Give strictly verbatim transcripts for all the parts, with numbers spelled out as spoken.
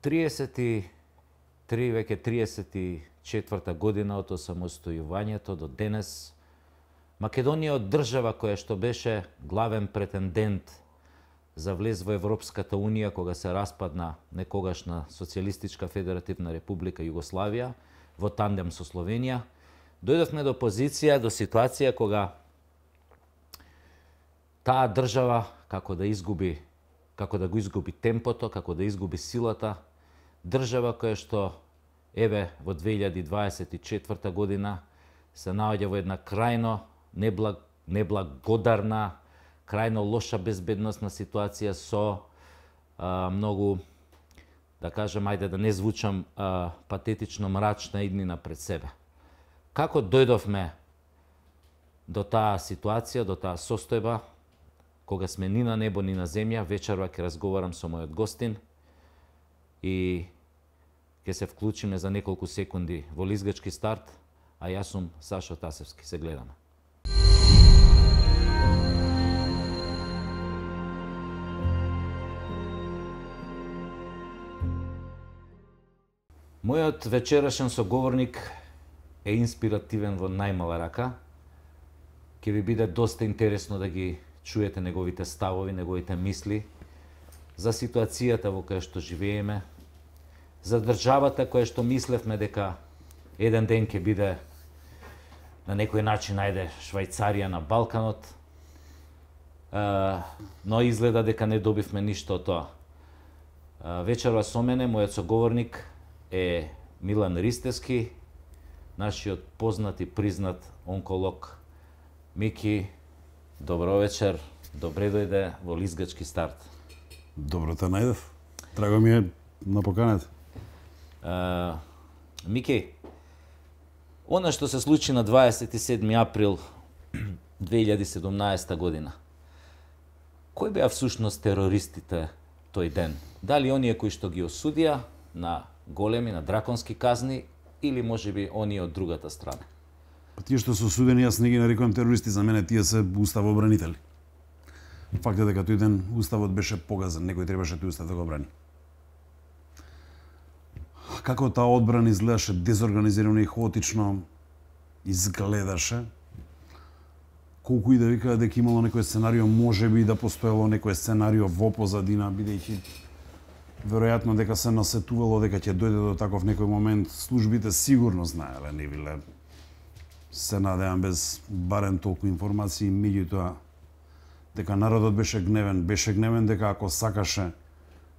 триесет и три, веќе триесет и четврта година од осамостојувањето до денес, Македонија од држава која што беше главен претендент за влез во Европската Унија кога се распадна некогашна Социјалистичка Федеративна Република Југославија во тандем со Словенија, дојдовме до позиција, до ситуација кога таа држава како да изгуби, како да го изгуби темпото, како да изгуби силата, држава која што еве во две илјади дваесет и четврта година се наоѓа во една крајно неблаг, неблагодарна, крајно лоша безбедносна ситуација со а, многу, да кажем, ајде да не звучам а, патетично мрачна иднина пред себе. Како дојдовме до таа ситуација, до таа состојба, кога сме ни на небо, ни на земја, вечерва ќе разговарам со мојот гостин и ќе се вклучиме за неколку секунди во лизгачки старт, а јас сум Сашо Тасевски. Се гледаме. Мојот вечерашен соговорник е инспиративен во најмала рака. Ќе ви биде доста интересно да ги чуете неговите ставови, неговите мисли за ситуацијата во која што живееме, за државата која што мислевме дека еден ден ќе биде на некој начин, ајде, Швајцарија на Балканот, но изгледа дека не добивме ништо од тоа. Вечерва со мене, мојот соговорник е Милан Ристевски, нашиот познат и признат онколог. Мики, добро вечер, добре дојде во лизгачки старт. Добро те најдов. Драго ми е на поканата. Uh, Мики, она што се случи на дваесет и седми април две илјади и седумнаесета година, кои беа всушност терористите тој ден? Дали оние кои што ги осудија на големи, на драконски казни, или можеби оние од другата страна? Па тие што се осудени, јас не ги нарекувам терористи, за мене тие се уставобранители. Факт е дека тој ден уставот беше погазен, некој требаше тој устав да го брани. Како таа одбрана изгледаше дезорганизирано и хаотично изгледаше, колку и да викаа дека имало некој сценарио, можеби да постоело некој сценарио во позадина, бидејќи веројатно дека се насетувало дека ќе дојде до таков некој момент, службите сигурно знаеле, не биле, се надевам без барем толку информации, меѓутоа дека народот беше гневен, беше гневен дека ако сакаше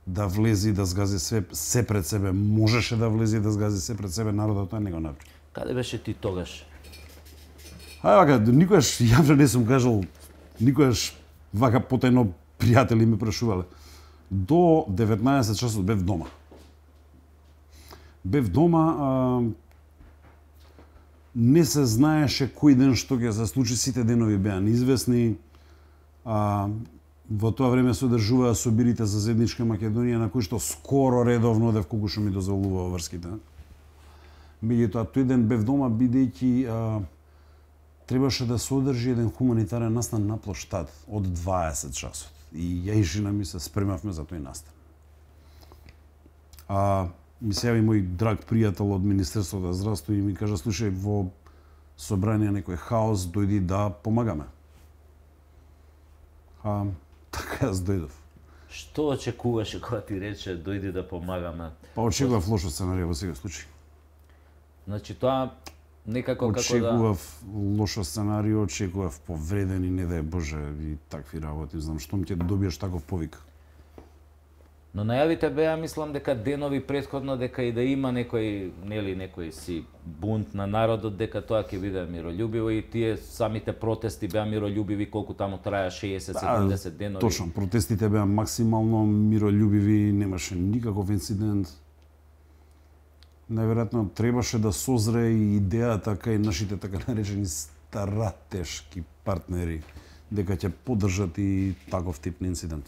да влези да згази све, се пред себе, можеше да влези да згази се пред себе, народот тоа не го направи. Каде беше ти тогаш? Ај вака, никогаш јавно не сум кажал, никогаш вака потајно пријатели ме прашувале. До деветнаесет часот бев дома. Бев дома, а, не се знаеше кој ден што ќе се случи, сите денови беа неизвестни. А, во тоа време се одржуваа собирите за заедничка Македонија, на кои што скоро редовно одев колку што ми дозволува врските. Меѓутоа, тој ден бев дома, бидејќи а, требаше да се одржи еден хуманитарен настан на плоштад од дваесет часот. И ја и жена ми се спремавме за тој настан. А, ми се јави мој драг пријател од Министерството за здравство и ми кажа: слушај, во собрание некој хаос, дојди да помагаме. А, така јас дојдов. Што очекуваше кога ти рече дојди да помагаме? Па очекував лошо сценарио во секој случај. Значи тоа некако како да... Очекував лошо сценарио, очекував повредени, не дај Боже, и такви работи. Знам, штом ќе добиеш таков повик. Но најавите беа, мислам, дека денови претходно, дека и да има некој, нели, некој си бунт на народот, дека тоа ќе биде мирољубиво, и тие самите протести беа мирољубиви, колку таму траја шеесет седумдесет денови. Точно, протестите беа максимално мирољубиви, немаше никаков инцидент. Најверојатно требаше да созре и идејата кај нашите така наречени стратешки партнери дека ќе поддржат и таков тип на инцидент.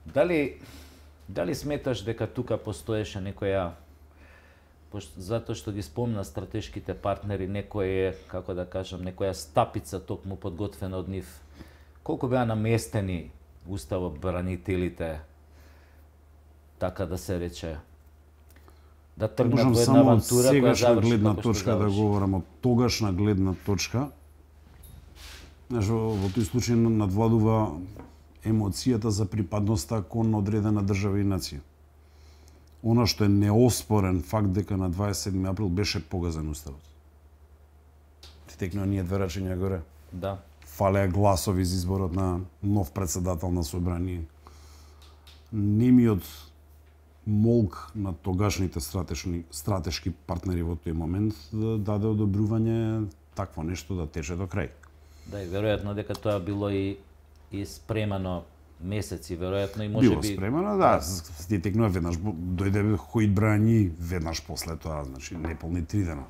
Дали дали сметаш дека тука постоеше некоја, затоа што ги спомна стратешките партнери, некој, како да кажам, некоја стапица токму подготвена од нив? Колку беа наместени уставобранителите така да се рече, да тргнат Можам во една само од авантура која сегашна заврши гледна како што точка да заврши. говорам, од тогашна гледна точка. Знаеш, во во тој случај надвладува емоцијата за припадноста кон одредена држава и нација. Она што е неоспорен факт дека на дваесет и седми април беше погазен уставот. Ти текнува ние две рачиња горе. Да. Фалеа гласови за изборот на нов председател на собрание. Немиот молк на тогашните стратешки, стратешки партнери во тој момент да даде одобрување такво нешто да тече до крај. Да, и веројатно дека тоа било и и спремано месеци, веројатно и може Било би спремано, да, ти текнува веднаш, дојде Хоид Брањи веднаш после тоа, значи неполни три дена.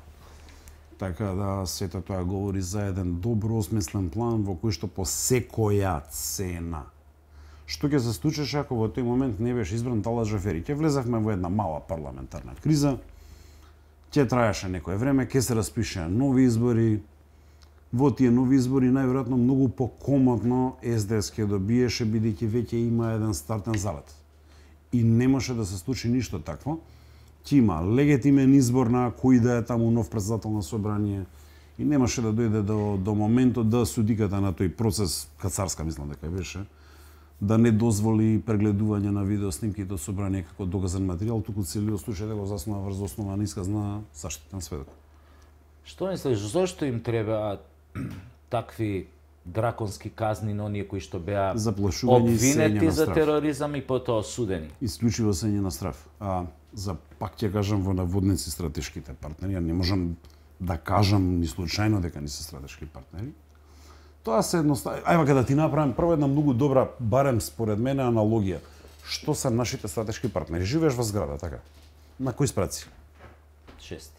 Така да сето тоа говори за еден добро осмислен план во кој што по секоја цена. Што ќе се случеше ако во тој момент не беше избран Талат Джафери? Ќе влезевме во една мала парламентарна криза, ќе траеше некое време, ќе се распишеа нови избори. Во тие нови избори најверојатно многу покомотно Ес Де Ес ќе добиеше бидејќи веќе има еден стартен залет. И не може да се случи ништо такво. Ќе има легитимен избор на кој да е таму нов председател на собрание и немаше да дојде до, до моментот да судиката на тој процес, кацарска мислам дека беше, да не дозволи прегледување на видеоснимките од собрание како доказен материјал, туку целиот случај да го заснува врз основа на исказ на заштитен сведок. Што мислиш, зошто им треба такви драконски казни на оние кои што беа Заплашување и сење обвинети на за страф. тероризам и потоа осудени? Исклучиво сење на страф. А за пак ќе кажам во наводници стратешките партнери, ја не можам да кажам ни случајно дека не се стратешки партнери. Тоа се едноставно. Ајде вака да ти направам прво една многу добра, барем според мене, аналогија. Што се нашите стратешки партнери? Живееш во зграда, така? На кој спраци? Шести.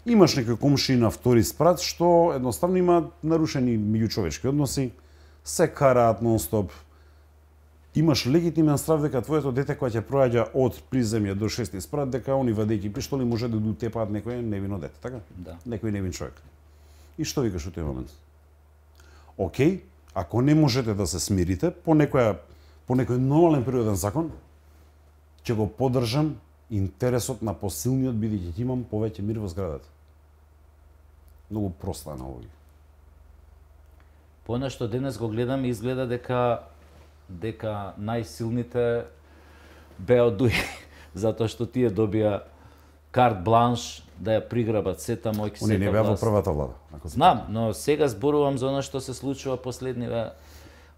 Имаш некој комши на втори спрат што едноставно има нарушени меѓучовечки односи, се караат нон-стоп. Имаш легитимен страв дека твоето дете кое ќе проаѓа од приземје до шести спрат дека они вадејќи пиштоли може да дотепаат некој невино дете, така? Да. Некој невин човек. И што викаш во тој момент? Океј, ако не можете да се смирите по некоја по некој нормален природен закон, ќе го поддржам интересот на посилниот бидејќи ќе имам повеќе мир во зградата. Многу проста аналогија. По она што денес го гледам, изгледа дека дека најсилните беа одуи, затоа што тие добија карт бланш да ја приграбат сета мојки сета. Они не беа во власт. првата влада. Ако се Знам, но сега зборувам за она што се случува последниве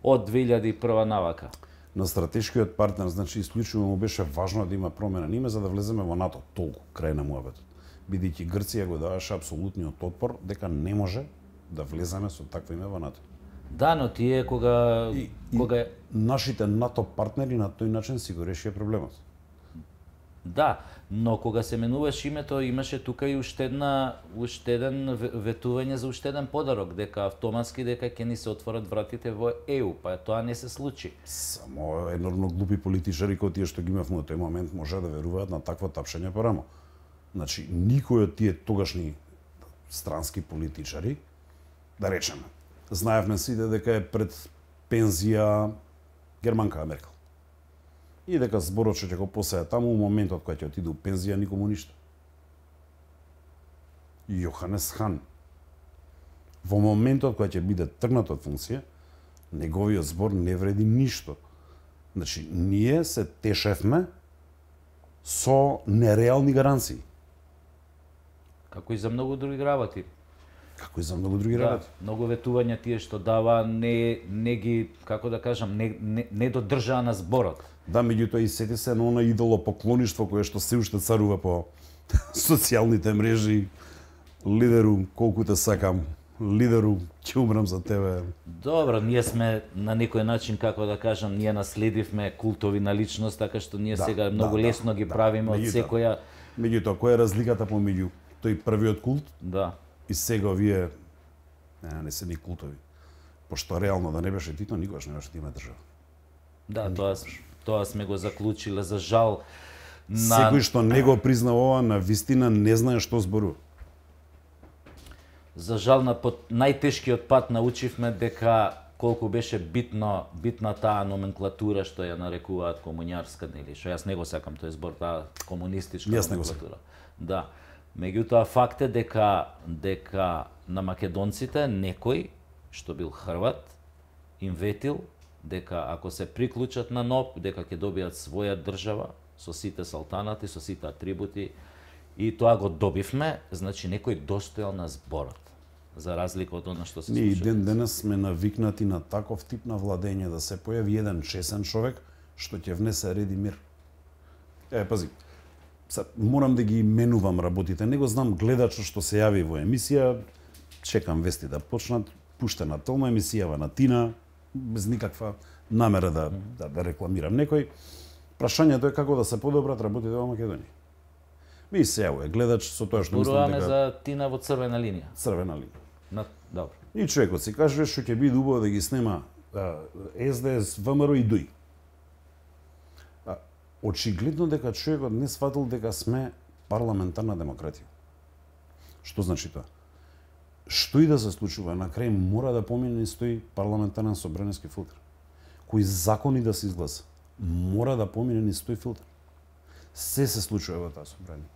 од две илјади и прва навака. на стратешкиот партнер, значи исклучиво му беше важно да има промена ниме за да влеземе во НАТО, толку крај на муабетот. Бидејќи Грција го даваше апсолутниот отпор дека не може да влеземе со такво име во НАТО. Да, но тие кога И, кога и нашите НАТО партнери на тој начин си го решија проблемот. да, но кога се менуваше името, имаше тука и уште една уште еден ветување за уште еден подарок, дека автоматски дека ќе ни се отворат вратите во Е У, па тоа не се случи. Само енормно глупи политичари кои тие што ги имавме во тој момент може да веруваат на такво тапшење по рамо. Значи, никој од тие тогашни странски политичари, да речеме, знаевме сите дека е пред пензија германка Меркел. И дека зборот што ќе го посеја таму, у моментот кога ќе отиде у пензија, никому ништо. Јоханес Хан. Во моментот кога ќе биде тргнат од функција, неговиот збор не вреди ништо. Значи, ние се тешевме со нереални гаранции. Како и за многу други работи. Како и за многу други Да, работи. многу ветувања тие што дава не не ги, како да кажам, не не, не додржаа на зборот. Да, меѓутоа и сети се на она идолопоклоништво кое што се уште царува по социјалните мрежи. Лидеру, колку те сакам, лидеру, ќе умрам за тебе. Добро, ние сме на некој начин, како да кажам, ние наследивме култови на личност, така што ние Да, сега многу да, лесно ги да. правиме од Меѓутоа- секоја, Меѓутоа, која е разликата помеѓу тој првиот култ да. и сега овие не, не се ни култови? Пошто реално да не беше Тито, никогаш не беше да има држава. Да, тоа тоа сме го заклучиле за жал на Секој што не го признава ова, на вистина не знае што зборува. за жал на под најтешкиот пат научивме дека колку беше битно битна таа номенклатура што ја нарекуваат комуњарска, нели, што јас не го сакам тој збор, таа комунистичка Јас не го номенклатура. Да. Меѓутоа факт е дека дека на македонците некој што бил Хрват им ветил дека ако се приклучат на НОП, дека ќе добијат своја држава со сите салтанати, со сите атрибути, и тоа го добивме, значи некој достоел на зборот, за разлика од она што се случува. Ние и ден денес сме навикнати на таков тип на владење, да се појави еден чесен човек што ќе внесе ред и мир. Е, пази, Са, морам да ги именувам работите. Не го знам гледачот што се јави во емисија, чекам вести да почнат, пуштена толна емисија на Тина, без никаква намера да, да, да рекламирам некој. Прашањето е како да се подобрат работите во Македонија. Ми се јавува гледач со тоа што мислам дека... за Тина во црвена линија. Црвена линија. На, добро. И човекот си каже што ќе биде убаво да ги снема Ес Де Ес, ВМРО и ДУИ. Очигледно дека човекот не сватил дека сме парламентарна демократија. Што значи тоа? Што и да се случува, на крај мора да помине стои парламентарен собраниски филтер. Кои закони да се изгласа, мора да помине ни стои филтер. Се се случува во таа собрание.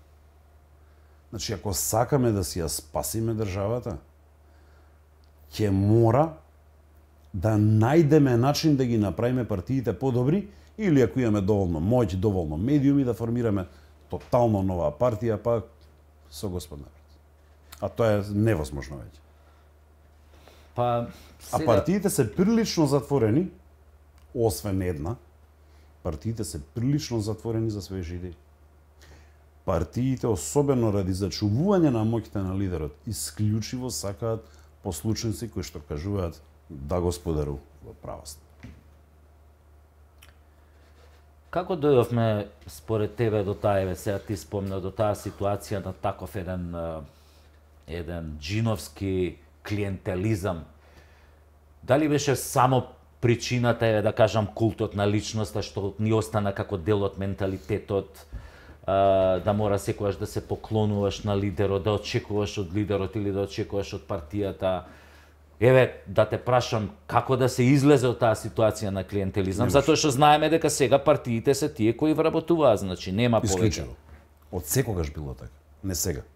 Значи, ако сакаме да си ја спасиме државата, ќе мора да најдеме начин да ги направиме партиите подобри, или ако имаме доволно моќ, доволно медиуми, да формираме тотално нова партија, па со господ народ. А тоа е невозможно веќе. Па, сега... А партиите се прилично затворени, освен една, партиите се прилично затворени за своји идеи. Партиите, особено ради зачувување на моќта на лидерот, исклучиво сакаат послушници кои што кажуваат да господару во правост. Како дојдовме според тебе до таа, еве сега ти спомна, до таа ситуација на таков еден еден джиновски клиентелизам? Дали беше само причината, еве да кажам, култот на личноста што ни остана како дел од менталитетот, да мора секогаш да се поклонуваш на лидерот, да очекуваш од лидерот или да очекуваш од партијата? Еве, да те прашам, како да се излезе од таа ситуација на клиентелизам, затоа што знаеме дека сега партиите се тие кои вработуваат, значи нема повеќе. Од секогаш било така, не сега.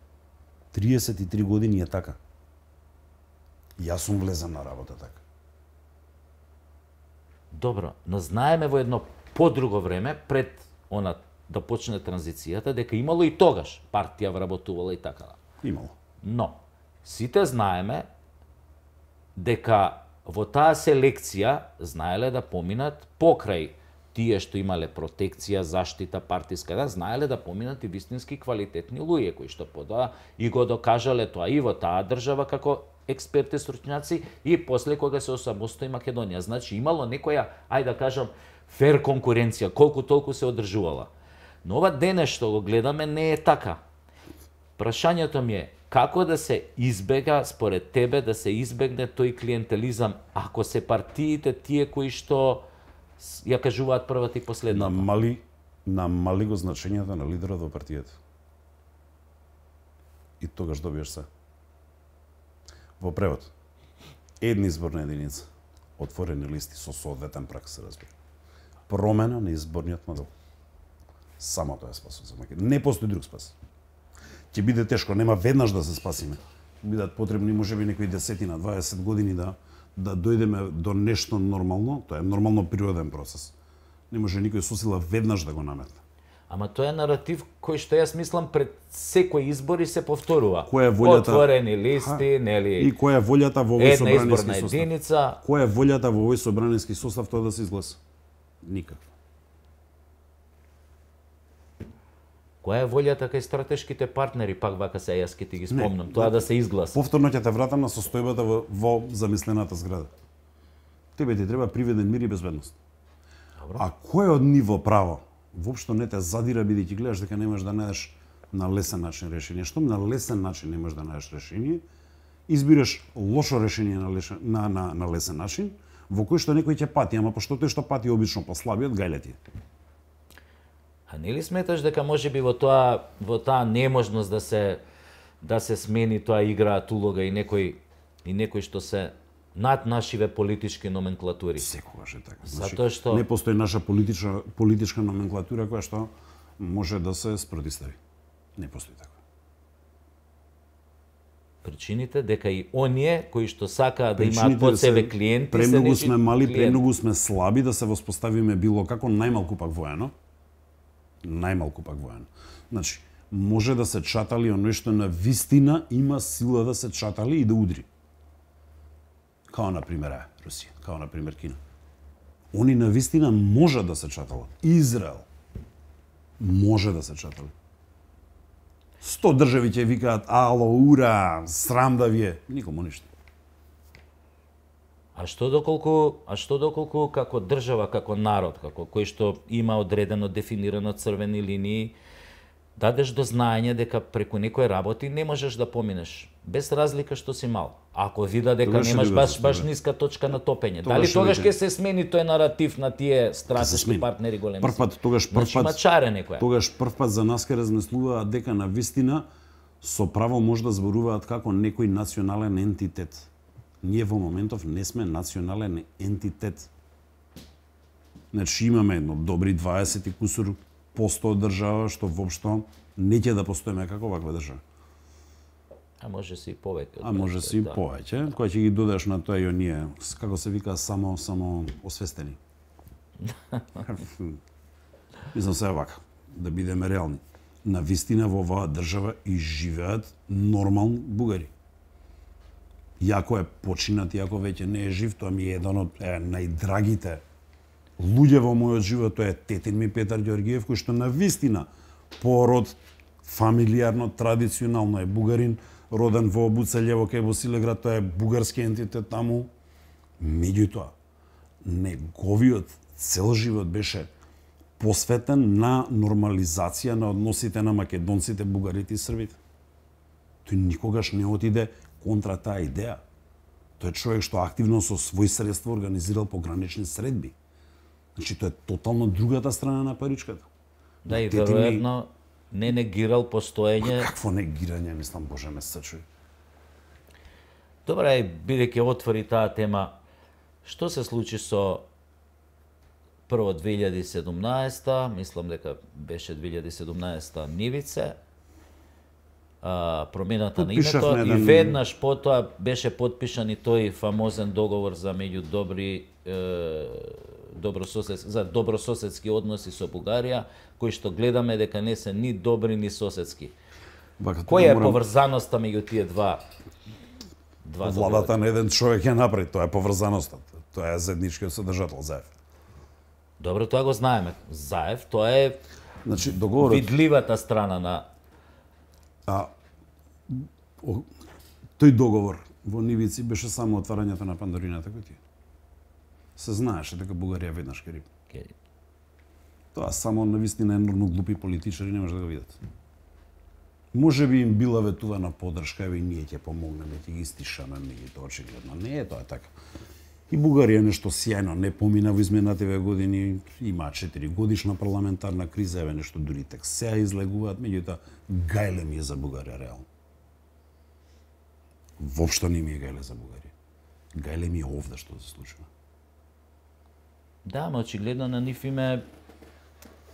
триесет и три години е така. Јас сум влезен на работа така. Добро, но знаеме во едно подруго време, пред она да почне транзицијата, дека имало и тогаш партија вработувала и така. Имало. Но, сите знаеме дека во таа селекција знаеле да поминат покрај тие што имале протекција, заштита партиска, да знаеле да поминат и вистински квалитетни луѓе кои што подоа и го докажале тоа и во таа држава како експерти, стручњаци, и после кога се осамостои Македонија. Значи имало некоја, ајде да кажам, фер конкуренција, колку толку се одржувала. Но ова денес што го гледаме не е така. Прашањето ми е како да се избега, според тебе, да се избегне тој клиентелизам, ако се партиите тие кои што ја кажуваат првата и последната? Намали, намали го значењето на лидерот во партијата. И тогаш добиеш се. Во превод, едни изборна единица, отворени листи со соодветен прак, се разбира. Промена на изборниот модел. Само тоа е спасот за Македонија. Не постои друг спас. Ќе биде тешко, нема веднаш да се спасиме. Бидат потребни можеби некои десетина, дваесет години да да дојдеме до нешто нормално. Тоа е нормално природен процес. Не може никој со сила веднаш да го наметне. Ама тоа е наратив кој што јас мислам пред секој избори се повторува. Која е волјата? Отворени листи, нели? И која е волјата во овој собраниски состав? Една изборна единица. Која е волјата во овој собраниски состав тоа да се изгласа? Никаква. Која е волјата кај стратешките партнери, пак вака се јас ќе ти ги спомнам, не, тоа да се изгласа? Повторно ќе те вратам на состојбата во, во замислената зграда. Тебе ти треба приведен мир и безбедност. Добро. А кој од ниво право воопшто не те задира, бидејќи гледаш дека не можеш да најдеш на лесен начин решение. Штом на лесен начин не можеш да најдеш решение, избираш лошо решение на, лешен, на, на, на лесен начин, во кој што некој ќе пати, ама пошто тој што пати обично послабиот гајле ти. А нели сметаш дека можеби во тоа во таа неможност да се да се смени тоа играат улога и некој и некој што се над нашиве политички номенклатури. Секогаш е така. Затоа што не постои наша политичка политичка номенклатура која што може да се спротистави. Не постои така. Причините дека и оние кои што сакаат да имаат под себе клиенти, премногу сме мали, премногу сме слаби да се воспоставиме било како, најмалку пак воено. Најмалку пак воено. Значи, може да се чатали оној што на вистина има сила да се чатали и да удри. Као на пример Русија, као на пример Кина. Они на вистина може да се чаталат. Израел може да се чатали. Сто држави ќе викаат ало, ура, срам да ви е. Никому ништо. А што доколку, а што доколку како држава, како народ, како кој што има одредено дефинирано црвени линии, дадеш до знаење дека преку некои работи не можеш да поминеш, без разлика што си мал. Ако вида дека Тогаш немаш ли баш беше, баш да. ниска точка на топење, Тогаш дали ли тогаш беше? ќе се смени тој наратив на тие стратешки смени. партнери големи? Прв пат, тогаш прв Значи, пат, мачаре некоја. тогаш прв пат за нас ке размислуваат дека на вистина со право може да зборуваат како некој национален ентитет. Ние во моментов не сме национален ентитет. Значи имаме едно добри дваесет и кусур посто од држава што воопшто не ќе да постоиме како ваква држава. А може се и повеќе. од А може се и да. повеќе, која ќе ги додаш на тоа и оние, како се вика, само само освестени. Мислам се вака, да бидеме реални. На вистина во оваа држава и живеат нормални бугари. Иако е починат, иако веќе не е жив, тоа ми е еден од е, најдрагите луѓе во мојот живот, тоа е тетин ми Петар Ѓоргиев, кој што на вистина пород фамилиарно, традиционално е бугарин, роден во Буцелјево кај Босилеград, тоа е бугарски ентитет таму. Меѓутоа, неговиот цел живот беше посветен на нормализација на односите на македонците, бугарите и србите. Тој никогаш не отиде контра таа идеја. Тој е човек што активно со своји средства организирал погранични средби. Значи, тоа е тотално другата страна на паричката. Да, и Тети ми- веројатно не негирал постоење. Какво негирање, мислам, Боже ме сачуј. Добре, бидејќи отвори таа тема, што се случи со прво две илјади и седумнаесета, мислам дека беше две илјади и седумнаесета нивице, а, промената на Потпишавме името, и еден- веднаш потоа беше потпишан и тој фамозен договор за меѓу добри е, добрососедски, за добрососедски односи со Бугарија, кои што гледаме дека не се ни добри ни соседски. Вака, Која е морам- поврзаноста меѓу тие два два договори? Владата на еден човек ја направи, тоа е поврзаноста. Тоа е заедничкиот содржател Заев. Добро, тоа го знаеме. Заев, тоа е Значи, договорот, видливата страна на а, о, тој договор во Нивици беше само отварањето на Пандорината кутија. Се знаеше дека Бугарија веднаш ќе рип. Кери. Тоа само навистина енормно глупи политичари не може да го видат. Може би им била ветувана подршка, еве и ние ќе помогнеме, ќе ги стишаме, меѓутоа очигледно не е тоа така. И Бугарија нешто сјајно не помина во изминативе години, има четири годишна парламентарна криза, еве нешто дури тек сега излегуваат, меѓутоа гајле ми е за Бугарија реално. Воопшто не ми е гајле за Бугарија. Гајле ми е овде што се случува. Да, ама очигледно на нив име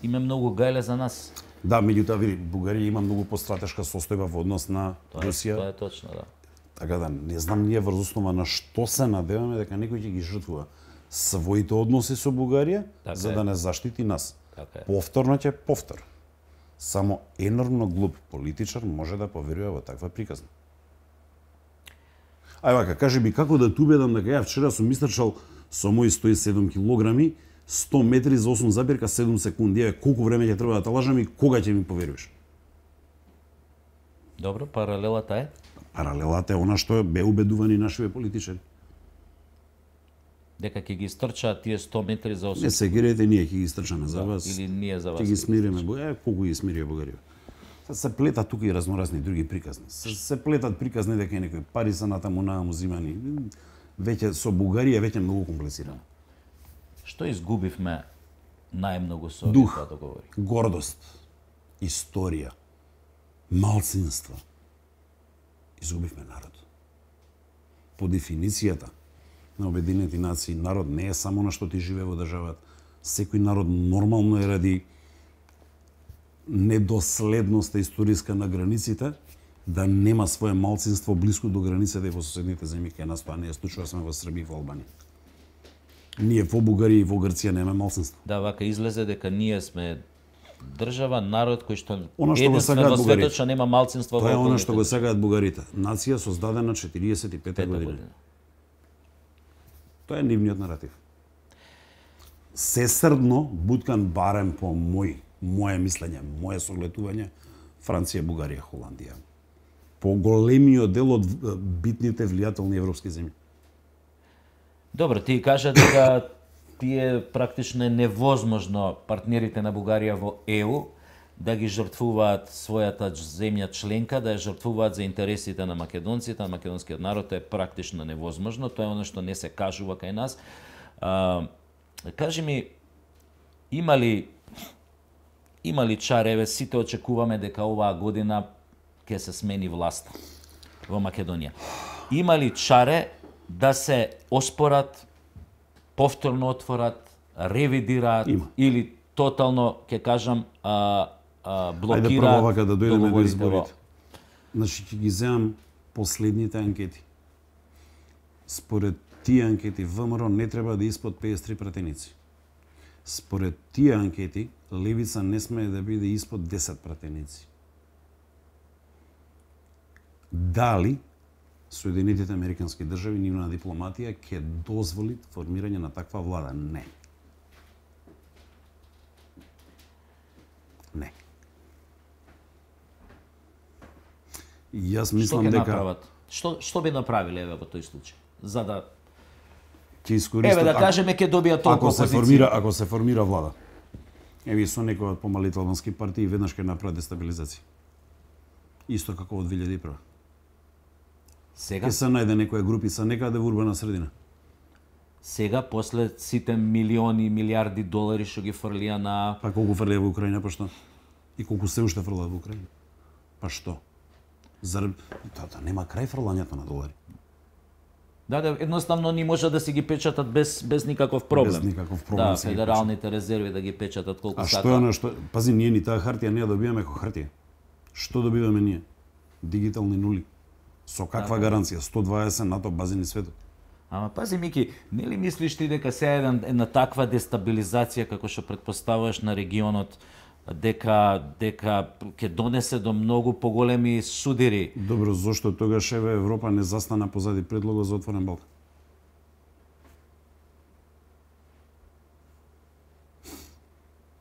име многу гајле за нас. Да, меѓутоа види, Бугарија има многу постратешка состојба во однос на Тоа е, Русија. тоа е точно, да. Така да, не знам ние врз основа на што се надеваме дека некој ќе ги жртвува своите односи со Бугарија, Така за е. да не заштити нас. Така е. Повторно ќе повтор. Само енормно глуп политичар може да поверува во таква приказна. Ај вака, кажи ми како да те убедам дека ја вчера сум истрчал со мои сто и седум килограми, сто метри за осум запирка седум секунди. Еве колку време ќе треба да те лажам и кога ќе ми поверуваш? Добро, паралелата е Паралелата е она што бе убедувани нашиве политичари. дека ќе ги стрчаат тие сто метри за осум. Не се гирете, ние ќе ги истрчаме за вас. Или ние за вас. Ќе ги смириме, бо е колку ги смирија Бугарија. Се се плетат тука и разноразни други приказни. Се, се плетат приказни дека некои пари се натаму нааму зимани. Веќе со Бугарија веќе многу комплицирано. Што изгубивме најмногу со овие Дух. два договори? Гордост, историја, малцинство. Изгубивме народ. По дефиницијата, на Обединети нации. Народ не е само на што ти живее во државата. Секој народ нормално е ради недоследноста историска на границите да нема свое малцинство блиску до границите и во соседните земји кај нас тоа не е случува, сме во Србија и во Албанија. Ние во Бугарија и во Грција немаме малцинство. Да, вака излезе дека ние сме држава, народ кој што Она што го единствен сакаат во светот бугарите. што нема малцинство во Тоа е она околните што го држави. сакаат бугарите. Нација создадена четириесет и пета Пета година. година. Тоа е нивниот наратив. Сесрдно буткан барем по мој, моje мислење, моje согледување, Франција, Бугарија, Холандија. По големиот дел од битните влијателни европски земји. Добро, ти кажа дека тие практично е невозможно партнерите на Бугарија во Е У да ги жртвуваат својата земја членка, да ја жртвуваат за интересите на македонците, на македонскиот народ, тоа е практично невозможно, тоа е оно што не се кажува кај нас. А, кажи ми, има ли има ли чареве, сите очекуваме дека оваа година ќе се смени власта во Македонија. Има ли чаре да се оспорат, повторно отворат, ревидираат Има. или тотално, ќе кажам, а, а, блокираат Ајде прво вака да дојдеме до договорите изборите. Значи ќе ги земам последните анкети. Според тие анкети ВМРО не треба да испод пеесет и три пратеници. Според тие анкети левица не смее да биде испод десет пратеници. Дали Соединетите Американски држави, нивна дипломатија ќе дозволи формирање на таква влада? Не. Не. И јас Што мислам ќе дека направат? Што што би направиле еве во тој случај? За да ќе искористат еве да ако- кажеме ќе добија толку ако се опозиција. формира, ако се формира влада. Еви со некои од помалите албански партии веднаш ќе направат дестабилизација. Исто како во две илјади и прва. Сега Ќе се најде некоја групица некаде во урбана средина. сега после сите милиони, милиарди долари што ги фрлија на Па колку фрлија во Украина, па што? И колку се уште фрлаат во Украина? Па што? Зар тоа да, нема крај фрлањето на долари. Да, да, едноставно не може да си ги печатат без без никаков проблем. Без никаков проблем Да, се ги федералните резерви да ги печатат колку А сака. што е она што пази ние ни таа хартија не ја добиваме како хартија. Што добиваме ние? Дигитални нули. Со каква гаранција? сто дваесет НАТО базини светот. Ама пази Мики, нели мислиш ти дека се еден една таква дестабилизација како што претпоставуваш на регионот дека дека ќе донесе до многу поголеми судири? Добро, зошто тогаш еве Европа не застана позади предлогот за отворен Балкан?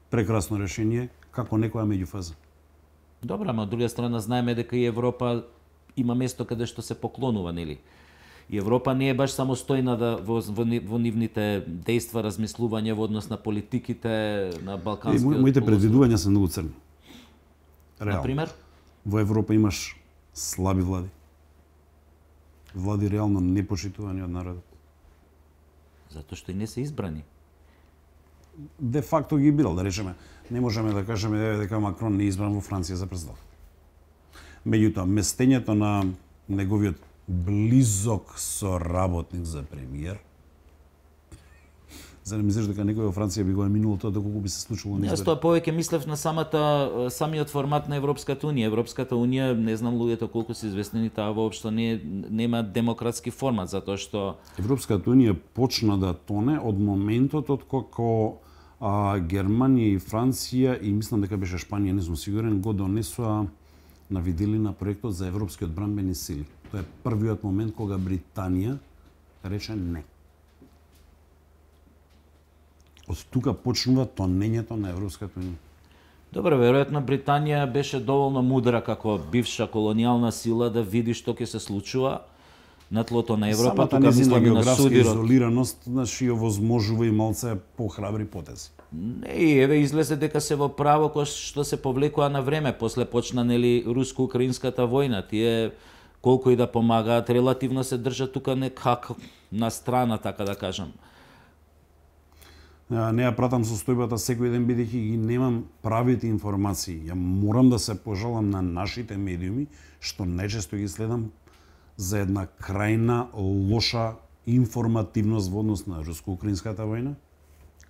Прекрасно решение, како некоја меѓуфаза. Добро, ама од друга страна знаеме дека и Европа има место каде што се поклонува, нели? И Европа не е баш самостојна да во, во, ни- во нивните дејства, размислување во однос на политиките на И Балканскиот мо- моите полуостров. предвидувања се многу црни. Реално. Например, Во Европа имаш слаби влади. Влади реално непочитувани од народот. затоа што и не се избрани. Де факто ги бирал, да речеме. Не можеме да кажеме еве дека Макрон не е избран во Франција за президент. Меѓутоа, местењето на неговиот близок соработник за премиер, за не мислиш дека некој во Франција би го еминувал тоа доколку би се случило на Јас избори? тоа повеќе мислев на самата самиот формат на Европската унија. Европската унија, не знам луѓето колку се известени, таа воопшто не нема демократски формат затоа што Европската унија почна да тоне од моментот од кога а, Германија и Франција и мислам дека беше Шпанија, не сум сигурен, го донесоа на виделина проектот за европски одбранбени сили. Тоа е првиот момент кога Британија рече не. Од тука почнува тонењето на Европската унија. добро, веројатно Британија беше доволно мудра како бивша колонијална сила да види што ќе се случува на тлото на Европа, Самата тука незина мислам и на географска судирот. изолираност, значи, ја возможува и малце похрабри потези. Не, и еве излезе дека се во право кој што се повлекува на време, после почна нели руско-украинската војна, тие колку и да помагаат, релативно се држат тука некако на страна, така да кажам. А, Не ја пратам состојбата секој ден бидејќи ги немам правите информации. Ја морам да се пожалам на нашите медиуми што најчесто ги следам за една крајна лоша информативност во однос на руско-украинската војна,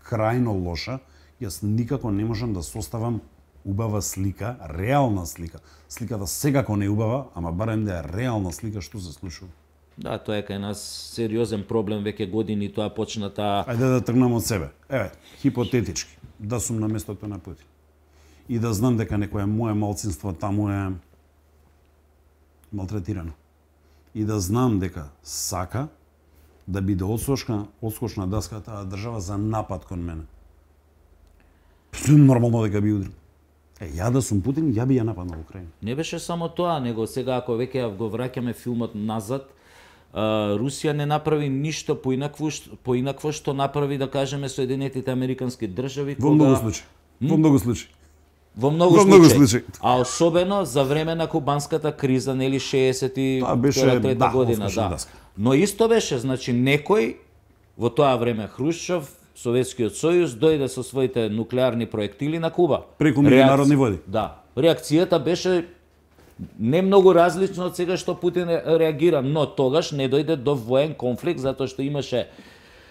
крајно лоша. Јас никако не можам да составам убава слика, реална слика. Сликата секако не е убава, ама барем да е реална слика што се случува. Да, тоа е кај нас сериозен проблем, веќе години тоа почната. Ајде да тргнам од себе. Еве, хипотетички, да сум на местото на Путин. И да знам дека некое мое малцинство таму е малтретирано. И да знам дека сака да биде одскочна, одскочна даска таа држава за напад кон мене. Нормално дека би удрил. Е, ја да сум Путин, ја би ја нападнал Украина. Не беше само тоа, него сега ако веќе го враќаме филмот назад, Uh, Русија не направи ништо поинакво, поинакво што направи, да кажеме, Соединетите Американски држави. Во кога... многу случаи. Во многу случаи. Во многу, Во многу случаи. А особено за време на кубанската криза, нели шеесет и трета да, година, да. Даска. Но исто беше, значи некој во тоа време Хрушчов, Советскиот сојуз дојде со своите нуклеарни проектили на Куба. Преку меѓународни води. Да. Реакцијата беше не многу различно од сега што Путин реагира, но тогаш не дојде до воен конфликт затоа што имаше,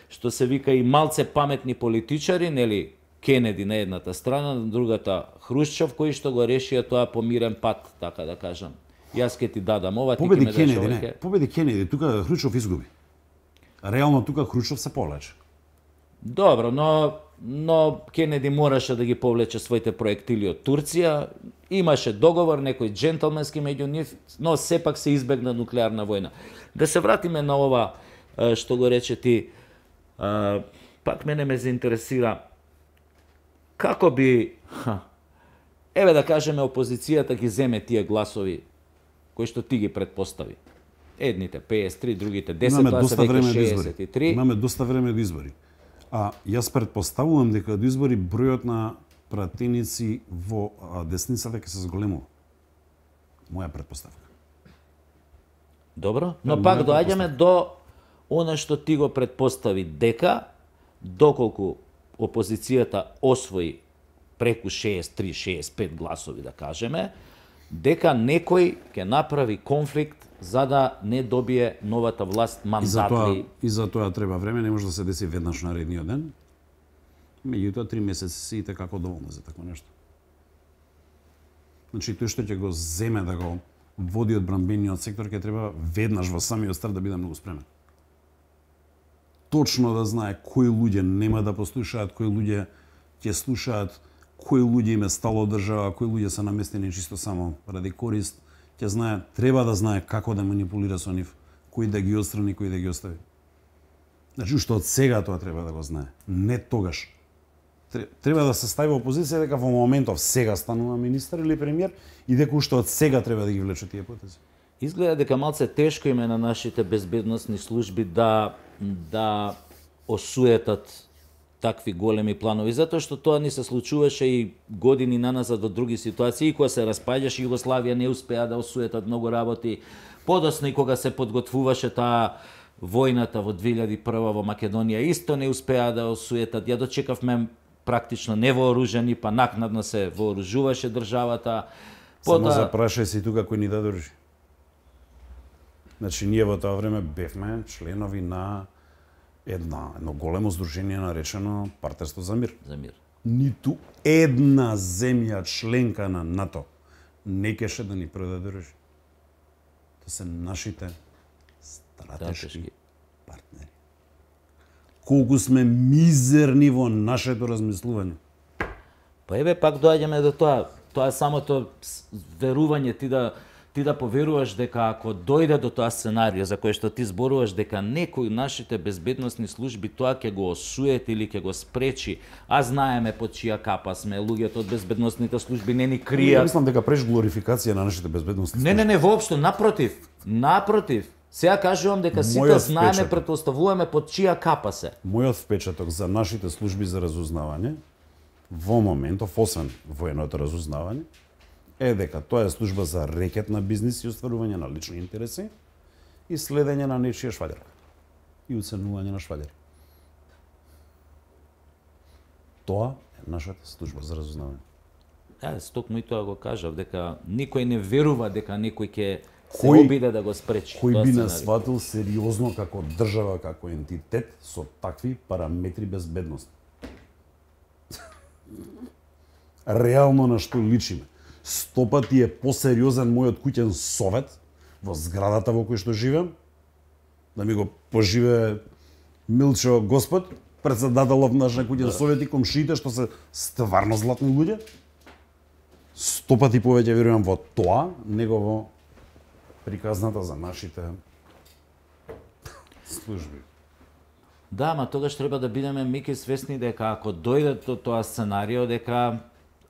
што се вика, и малце паметни политичари, нели, Кенеди на едната страна, на другата Хрушчов, кои што го решија тоа по мирен пат, така да кажам. Јас ќе ти дадам ова, ти ќе ме дадеш Кенеди, ова. не. Победи Кенеди, тука Хрушчов изгуби. Реално тука Хрушчов се повлече. Добро, но но Кенеди мораше да ги повлече своите проектили од Турција. Имаше договор, некој джентълменски меѓу нив, но сепак се избегна нуклеарна војна. Да се вратиме на ова што го рече ти, пак мене ме заинтересира како би, еве да кажеме, опозицијата ги земе тие гласови кои што ти ги предпостави. Едните пеесет и три, другите десет, тоа се веќе шеесет и три. Имаме доста време до избори. А јас предпоставувам дека до избори бројот на пратеници во десницата ќе се зголемува. Моја предпоставка. Добро, но пак доаѓаме до она што ти го предпостави, дека доколку опозицијата освои преку шеесет и три шеесет и пет гласови, да кажеме, дека некој ќе направи конфликт за да не добие новата власт мандатли. И за тоа треба време, не може да се деси веднаш наредниот ден. Меѓутоа, три месеци се и како доволно за такво нешто. Значи, тој што ќе го земе да го води одбранбениот сектор, ќе треба веднаш во самиот старт да биде многу спремен. Точно да знае кои луѓе нема да послушаат, кои луѓе ќе слушаат, кои луѓе им е стало од држава, кои луѓе се наместени чисто само ради корист, ќе знае, треба да знае како да манипулира со нив, кои да ги отстрани, кои да ги остави. Значи, уште од сега тоа треба да го знае, не тогаш. Треба да се стави во опозиција дека во моментов сега станува министер или премиер и дека уште од сега треба да ги влече тие потези. Изгледа дека малце тешко име на нашите безбедносни служби да да осуетат такви големи планови, затоа што тоа ни се случуваше и години наназад во други ситуации, и кога се распаѓаше Југославија не успеа да осуетат многу работи. Подоцна и кога се подготвуваше таа војната во две илјади и прва во Македонија, исто не успеа да осуетат. Ја дочекавме практично невооружени, па накнадно се вооружуваше државата. Само запрашај се тука кој ни даде оружје. Значи, ние во тоа време бевме членови на една, едно големо здружение наречено Партнерство за мир. За мир. Ниту една земја членка на НАТО не кеше да ни предаде оружје. Тоа се нашите стратешки, стратешки партнери. Колку сме мизерни во нашето размислување. Па еве пак доаѓаме до тоа. Тоа е самото верување, ти да ти да поверуваш дека ако дојде до тоа сценарио за кое што ти зборуваш, дека некој нашите безбедносни служби тоа ќе го осуети или ќе го спречи, а знаеме под чија капа сме, луѓето од безбедносните служби не ни кријат. Мислам дека преш глорификација на нашите безбедносни служби. Не, не, не, воопшто, напротив. Напротив. Сега кажувам дека сите знаеме, претпоставуваме под чија капа се. Мојот впечаток за нашите служби за разузнавање во моментов, освен военото разузнавање, е дека тоа е служба за рекет на бизнис и остварување на лични интереси и следење на нечија шваѓарка и уценување на шваѓари. Тоа е нашата служба за разузнавање. Е, стокму и тоа го кажав, дека никој не верува дека некој ќе се обиде да го спречи. Кој би нас сватил сериозно како држава, како ентитет со такви параметри безбедност? Реално на што личиме? Сто пати е посериозен мојот куќен совет во зградата во кој што живеам, да ми го поживее Милчо Господ, председателов наш на куќен совет и комшиите што се стварно златни луѓе. Сто пати повеќе верувам во тоа, него во приказната за нашите служби. Да, ма тогаш треба да бидеме меки свесни дека ако дојде до тоа сценарио, дека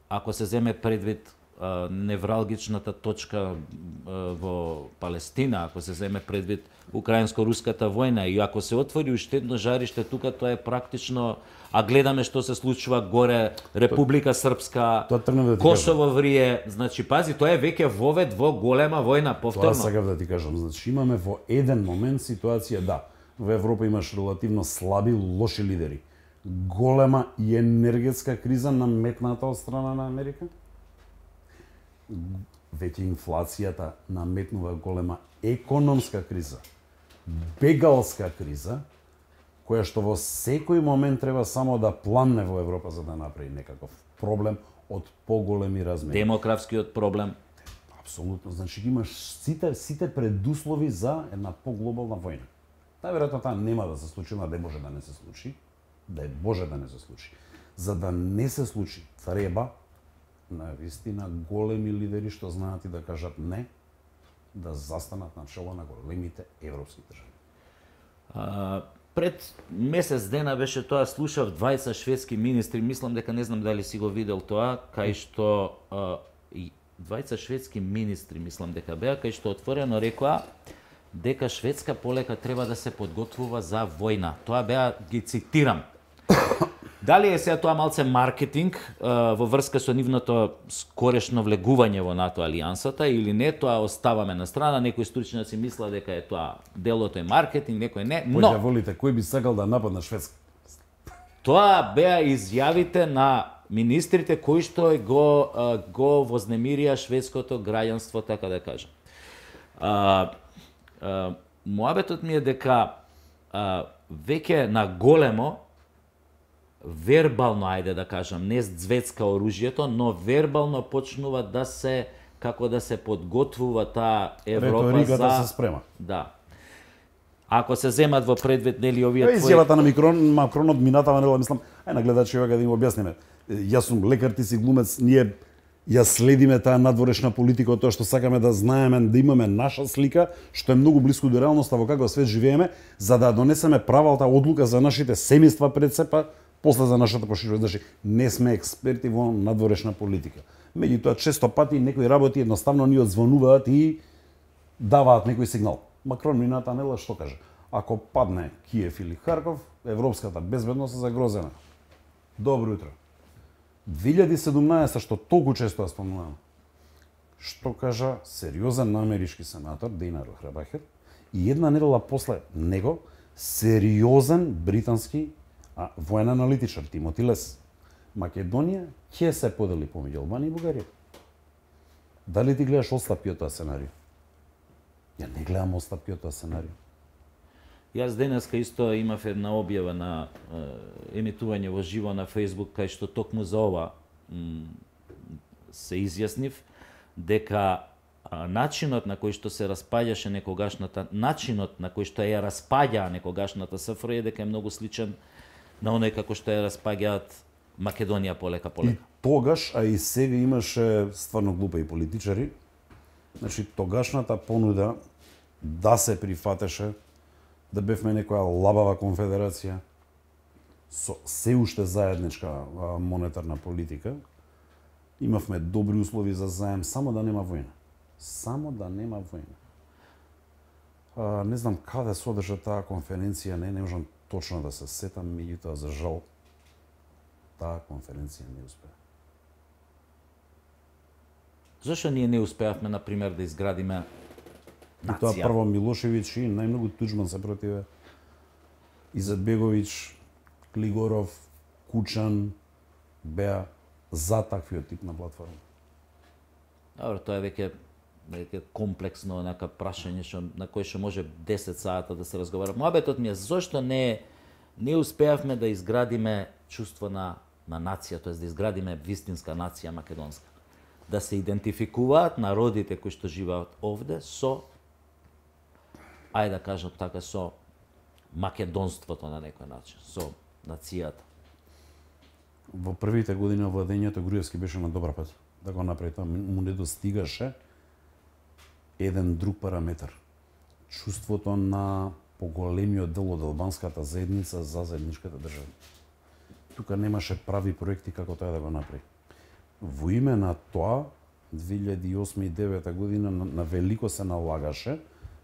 ако се земе предвид а, невралгичната точка а, во Палестина, ако се земе предвид украинско-руската војна и ако се отвори уште едно жариште тука, тоа е практично, а гледаме што се случува горе, Република Српска, тоа да Косово врие, значи пази, тоа е веќе вовед во голема војна, повторно. Тоа сакав да ти кажам, значи имаме во еден момент ситуација, да, во Европа имаш релативно слаби, лоши лидери. Голема и енергетска криза наметната од страна на Америка. Веќе инфлацијата наметнува голема економска криза, бегалска криза, која што во секој момент треба само да пламне во Европа за да направи некаков проблем од поголеми размери. Демографскиот проблем. Апсолутно, значи имаш сите сите предуслови за една поглобална војна. Најверојатно таа нема да се случи, но да може да не се случи, да е Боже да не се случи. За да не се случи, треба на вистина големи лидери што знаат и да кажат не, да застанат на чело на големите европски држави. А, пред месец дена беше тоа, слушав двајца шведски министри, мислам дека не знам дали си го видел тоа, кај што а, двајца шведски министри, мислам дека беа, кај што отворено рекоа дека Шведска полека треба да се подготвува за војна. Тоа беа, ги цитирам. Дали е сега тоа малце маркетинг а, во врска со нивното скорешно влегување во НАТО алијансата или не, тоа оставаме на страна. Некои стручњаци мислат дека е тоа делото е маркетинг, некој не. Но Појде волите, кој би сакал да нападне Шведска? Тоа беа изјавите на министрите кои што го а, го вознемирија шведското граѓанство, така да кажам. А, а, Моабетот ми е дека а, веќе на големо вербално, ајде да кажам, не звецка оружјето, но вербално почнува да се, како да се подготвува таа Европа Реториката за... се спрема. Да. Ако се земат во предвид, нели, овие твои... Изјавата на Микрон, Макронот минатава, нела, мислам, ај на гледачи ова да им објасниме. Јас сум лекар, ти си глумец, ние ја следиме таа надворешна политика, тоа што сакаме да знаеме, да имаме наша слика, што е многу блиску до реалноста во каква свет живееме, за да донесеме правалта одлука за нашите семејства пред се, па после за нашата поширување. Значи, не сме експерти во надворешна политика. Меѓутоа, често пати некои работи едноставно ни одзвонуваат и даваат некој сигнал. Макрон мината нела што каже? Ако падне Киев или Харков, европската безбедност е загрозена. Добро утро. две илјади и седумнаесета, што толку често ја спомнувам, што кажа сериозен амерички сенатор Дейна Рохрабахер и една недела после него сериозен британски а, воен аналитичар Тимоти Лес. Македонија ќе се подели помеѓу Албанија и Бугарија. Дали ти гледаш отстапки од тоа сценарио? Ја не гледам отстапки од тоа сценарио. Јас денеска исто имав една објава на е, емитување во живо на Facebook, кај што токму за ова м, се изјаснив дека а, начинот на кој што се распаѓаше некогашната, начинот на кој што ја распаѓаа некогашната СФР е дека е многу сличен на оној како што ја распаѓаат Македонија полека полека. И тогаш, а и сега имаше стварно глупи политичари. Значи тогашната понуда да се прифатеше да бевме некоја лабава конфедерација со се уште заедничка монетарна политика. Имавме добри услови за заем, само да нема војна. Само да нема војна. А, не знам каде се одржа таа конференција, не, не можам точно да се сетам, меѓутоа за жал таа конференција не успеа. Зошто ние не успеавме, например, да изградиме И тоа прво Милошевиќ и најмногу Туџман се противе. Изетбеговиќ, Клигоров, Кучан беа за таквиот тип на платформа. Добро, тоа е веќе нека комплексно нека прашање што на кој што може десет сата да се разговара. Моабетот ми е зошто не не успеавме да изградиме чувство на на нација, тоест да изградиме вистинска нација македонска. Да се идентификуваат народите кои што живеат овде со, ајде да кажам така, со македонството на некој начин, со нацијата. Во првите години владењето Груевски беше на добар пат да го направи тоа, му недостигаше еден друг параметар. Чувството на поголемиот дел од албанската заедница за заедничката држава. Тука немаше прави проекти како тоа да го направи. Во име на тоа, две илјади и осма и девета година на, на велико се налагаше,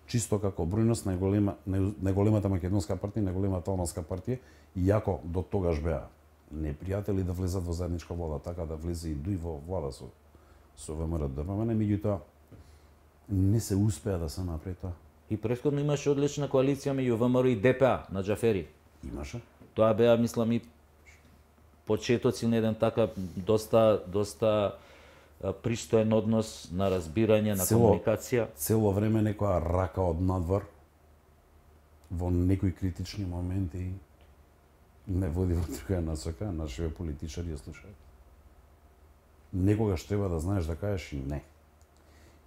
чисто како бројност најголема, најголемата македонска партија, најголемата албанска партија, иако до тогаш беа непријатели да влезат во заедничка влада, така да влезе и дуј во влада со со ВМРО ДПМН, меѓутоа не се успеа да се направи тоа. И претходно имаше одлична коалиција меѓу ВМРО и ДПА на Џафери. Имаше. Тоа беа, мислам, и почетоци на еден така доста доста пристоен однос на разбирање, на Цело, комуникација. Цело време некоја рака од надвор во некои критични моменти не води во друга насока, нашите политичари ја слушаат. Некогаш треба да знаеш да кажеш и не.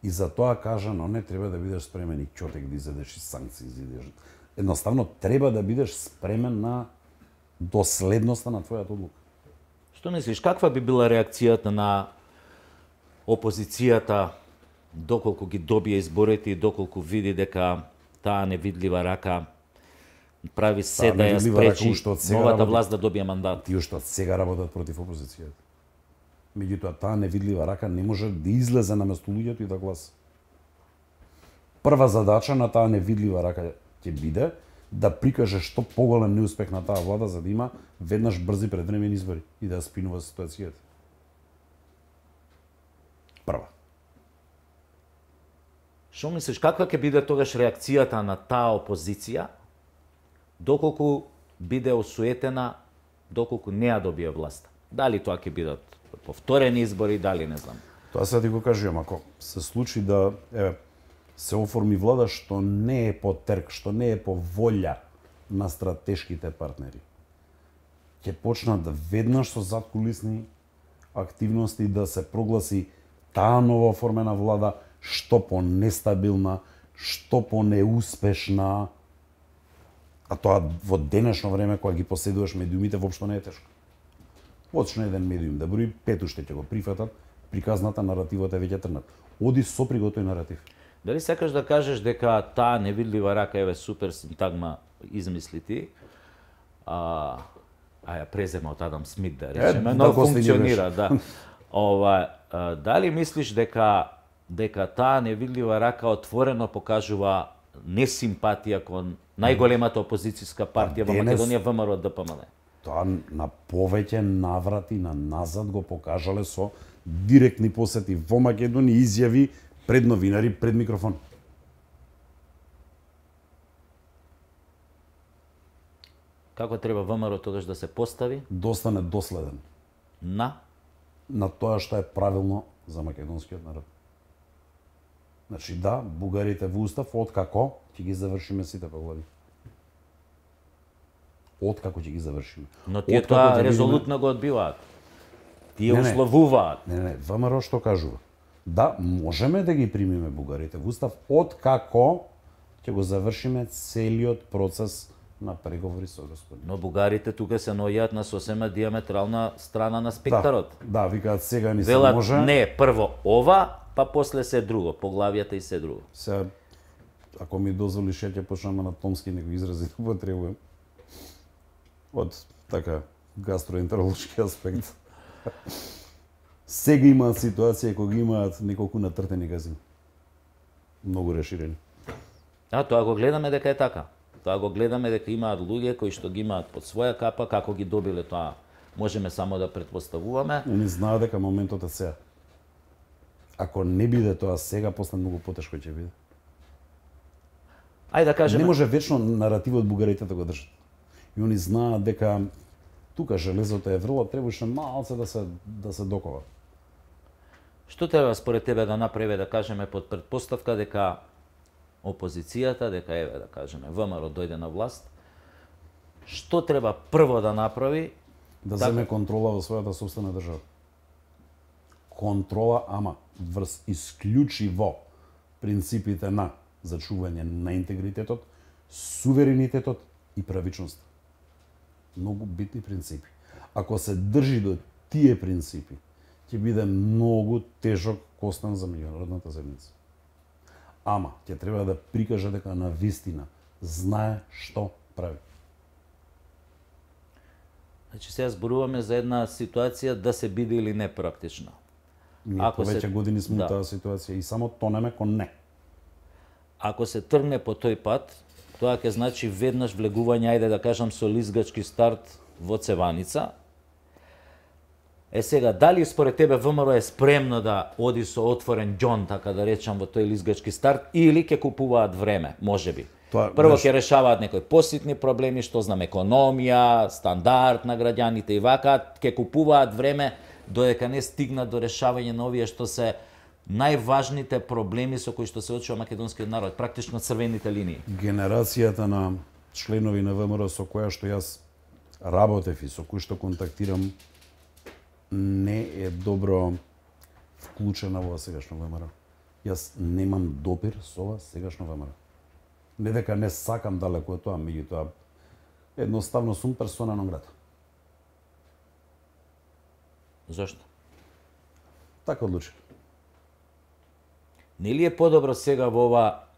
И за тоа кажано не треба да бидеш спремен и ќотек да изедеш и санкции изедеш. Едноставно треба да бидеш спремен на доследноста на твојата одлука. Што мислиш, каква би била реакцијата на опозицијата доколку ги добие изборите и доколку види дека таа невидлива рака прави се да ја спречи новата власт да добие мандат? Тие што сега работат против опозицијата. Меѓутоа, таа невидлива рака не може да излезе на место луѓето и да гласа. Прва задача на таа невидлива рака ќе биде да прикаже што поголем неуспех на таа влада за да има веднаш брзи предвремени избори и да ја спинува ситуацијата. Прва. Што мислиш, каква ќе биде тогаш реакцијата на таа опозиција доколку биде осуетена, доколку не ја добие власт? Дали тоа ќе бидат повторени избори, дали не знам. Тоа сега ти го кажувам, ако се случи да еве се оформи влада што не е по терк, што не е по волја на стратешките партнери, ќе почнат веднаш со задкулисни активности да се прогласи таа нова оформена влада што по нестабилна, што по неуспешна, а тоа во денешно време кога ги поседуваш медиумите воопшто не е тешко. Почне еден медиум да брои, пет уште ќе го прифатат, приказната наративот е веќе трнат. Оди со приготој наратив. Дали сакаш да кажеш дека таа невидлива рака, еве супер синтагма измисли ти, а, а ја презема од Адам Смит да речеме, е, но да функционира, да. Ова, а, дали мислиш дека дека таа невидлива рака отворено покажува несимпатија кон најголемата опозицијска партија во Македонија, ВМРО ДПМН? Тоа на повеќе наврати на назад го покажале со директни посети во Македонија, изјави пред новинари, пред микрофон. Како треба ВМРО тогаш да се постави? Да остане доследен. На? На тоа што е правилно за македонскиот народ. Значи да, бугарите во устав, откако ќе ги завршиме сите поглави. Откако ќе ги завршиме. Но тие тоа резолутно го одбиваат. Тие не, условуваат. Не, не, ВМРО што кажува? Да, можеме да ги примиме бугарите во устав, откако ќе го завршиме целиот процес на преговори со Господи. Но бугарите тука се наоѓаат на сосема диаметрална страна на спектарот. Да, да, викаат сега ни се Велат, може. Не, прво ова, па после се друго, поглавијата и се друго. Сега, ако ми дозволиш, ја ќе почнам на томски некои изрази да употребувам. Од така гастроентеролошки аспект. Сега имаат ситуација кога имаат неколку натртени газини. Многу реширени. А, тоа го гледаме дека е така. Тоа го гледаме дека имаат луѓе кои што ги имаат под своја капа, како ги добиле тоа, можеме само да претпоставуваме. Они знаат дека моментот е сега. Ако не биде тоа сега, после многу потешко ќе биде. Ајде да кажеме. Не може вечно наративот бугарите да го држат. И они знаат дека тука железото е врло, требаше малце да се да се докова. Што треба според тебе да направи, да кажеме, под претпоставка дека опозицијата, дека еве да кажеме ВМРО дојде на власт, што треба прво да направи? Да земе контрола во својата сопствена држава. Контрола, ама врз исклучиво принципите на зачување на интегритетот, суверенитетот и правичноста. Многу битни принципи. Ако се држи до тие принципи, ќе биде многу тежок костан за меѓународната заедница. Ама ќе треба да прикаже дека на вистина знае што прави. Значи сега зборуваме за една ситуација да се биде или не практична. Ние ако повеќе се... години сме да. Во таа ситуација и само тонеме кон не. Ако се тргне по тој пат, тоа ќе значи веднаш влегување, ајде да кажам, со лизгачки старт во цеваница. Е сега, дали според тебе ВМРО е спремно да оди со отворен џон, така да речам, во тој лизгачки старт, или ќе купуваат време, можеби? Тоа, Прво ќе решаваат некои поситни проблеми, што знам, економија, стандард на граѓаните и вака, ќе купуваат време додека не стигнат до решавање на овие што се најважните проблеми со кои што се очува македонскиот народ, практично црвените линии. Генерацијата на членови на ВМРО со која што јас работев и со кои што контактирам не е добро вклучена во сегашно ВМРО. Јас немам допир со ова сегашно ВМРО. Не дека не сакам далеку од тоа, меѓутоа едноставно сум персона нон грата. Зошто? Така одлучи. Нели е подобро сега во ова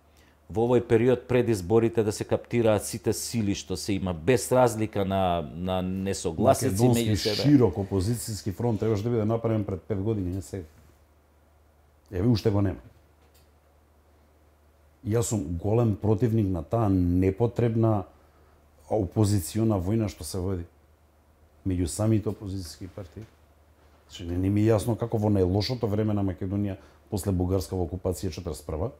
во овој период пред изборите да се каптираат сите сили што се има, без разлика на на несогласици меѓу себе? Широк опозицијски фронт требаше да биде направен пред пет години, не сега. Еве уште го нема. Јас сум голем противник на таа непотребна опозициона војна што се води меѓу самите опозицијски партии. Значи, не, не ми е јасно како во најлошото време на Македонија после бугарска окупација четиридесет и прва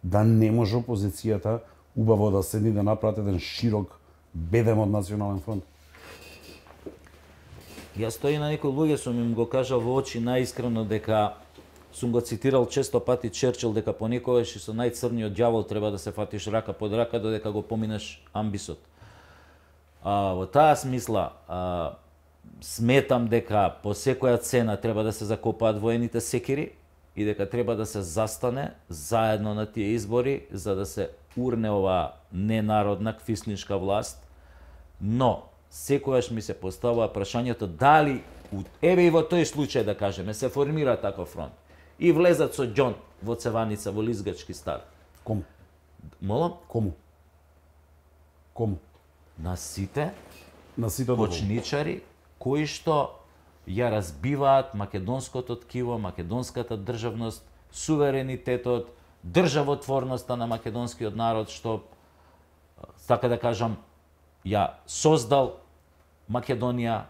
да не може опозицијата убаво да седни да направи еден широк бедем од национален фронт. Јас тој на некои луѓе сум им го кажал во очи најискрено дека сум го цитирал често пати Черчил дека понекогаш и со најцрниот ѓавол треба да се фатиш рака под рака додека го поминеш амбисот. А, во таа смисла а, сметам дека по секоја цена треба да се закопаат воените секири и дека треба да се застане заедно на тие избори за да се урне оваа ненародна квислиншка власт. Но секогаш ми се поставува прашањето дали еве и во тој случај да кажеме се формира таков фронт и влезат со џон во цеваница во лизгачки старт. Кому? Молам? Кому? Кому? На сите на сите почничари кои што ја разбиваат македонското ткиво, македонската државност, суверенитетот, државотворноста на македонскиот народ што, така да кажам, ја создал Македонија.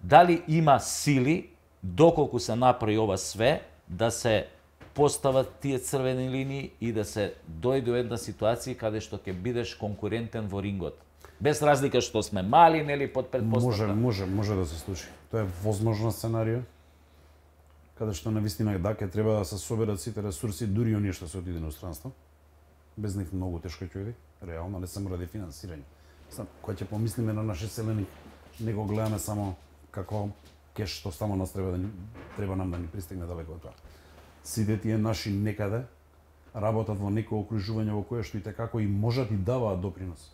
Дали има сили, доколку се направи ова све, да се постават тие црвени линии и да се дојде до една ситуација каде што ќе бидеш конкурентен во рингот. Без разлика што сме мали, нели, под предпоставка. Може, може, може да се случи. Тоа е возможно сценарио, каде што навистина да ќе треба да се соберат сите ресурси, дури оние што се отиде на иностранство. Без нив многу тешко ќе биде, реално не само ради финансирање. Сам, кога ќе помислиме на наши селени, не го гледаме само како кеш што само нас треба да ни, треба нам да ни пристигне далеко од тоа. Сите тие наши некаде работат во некој окружување во кое што и како и можат и даваат допринос.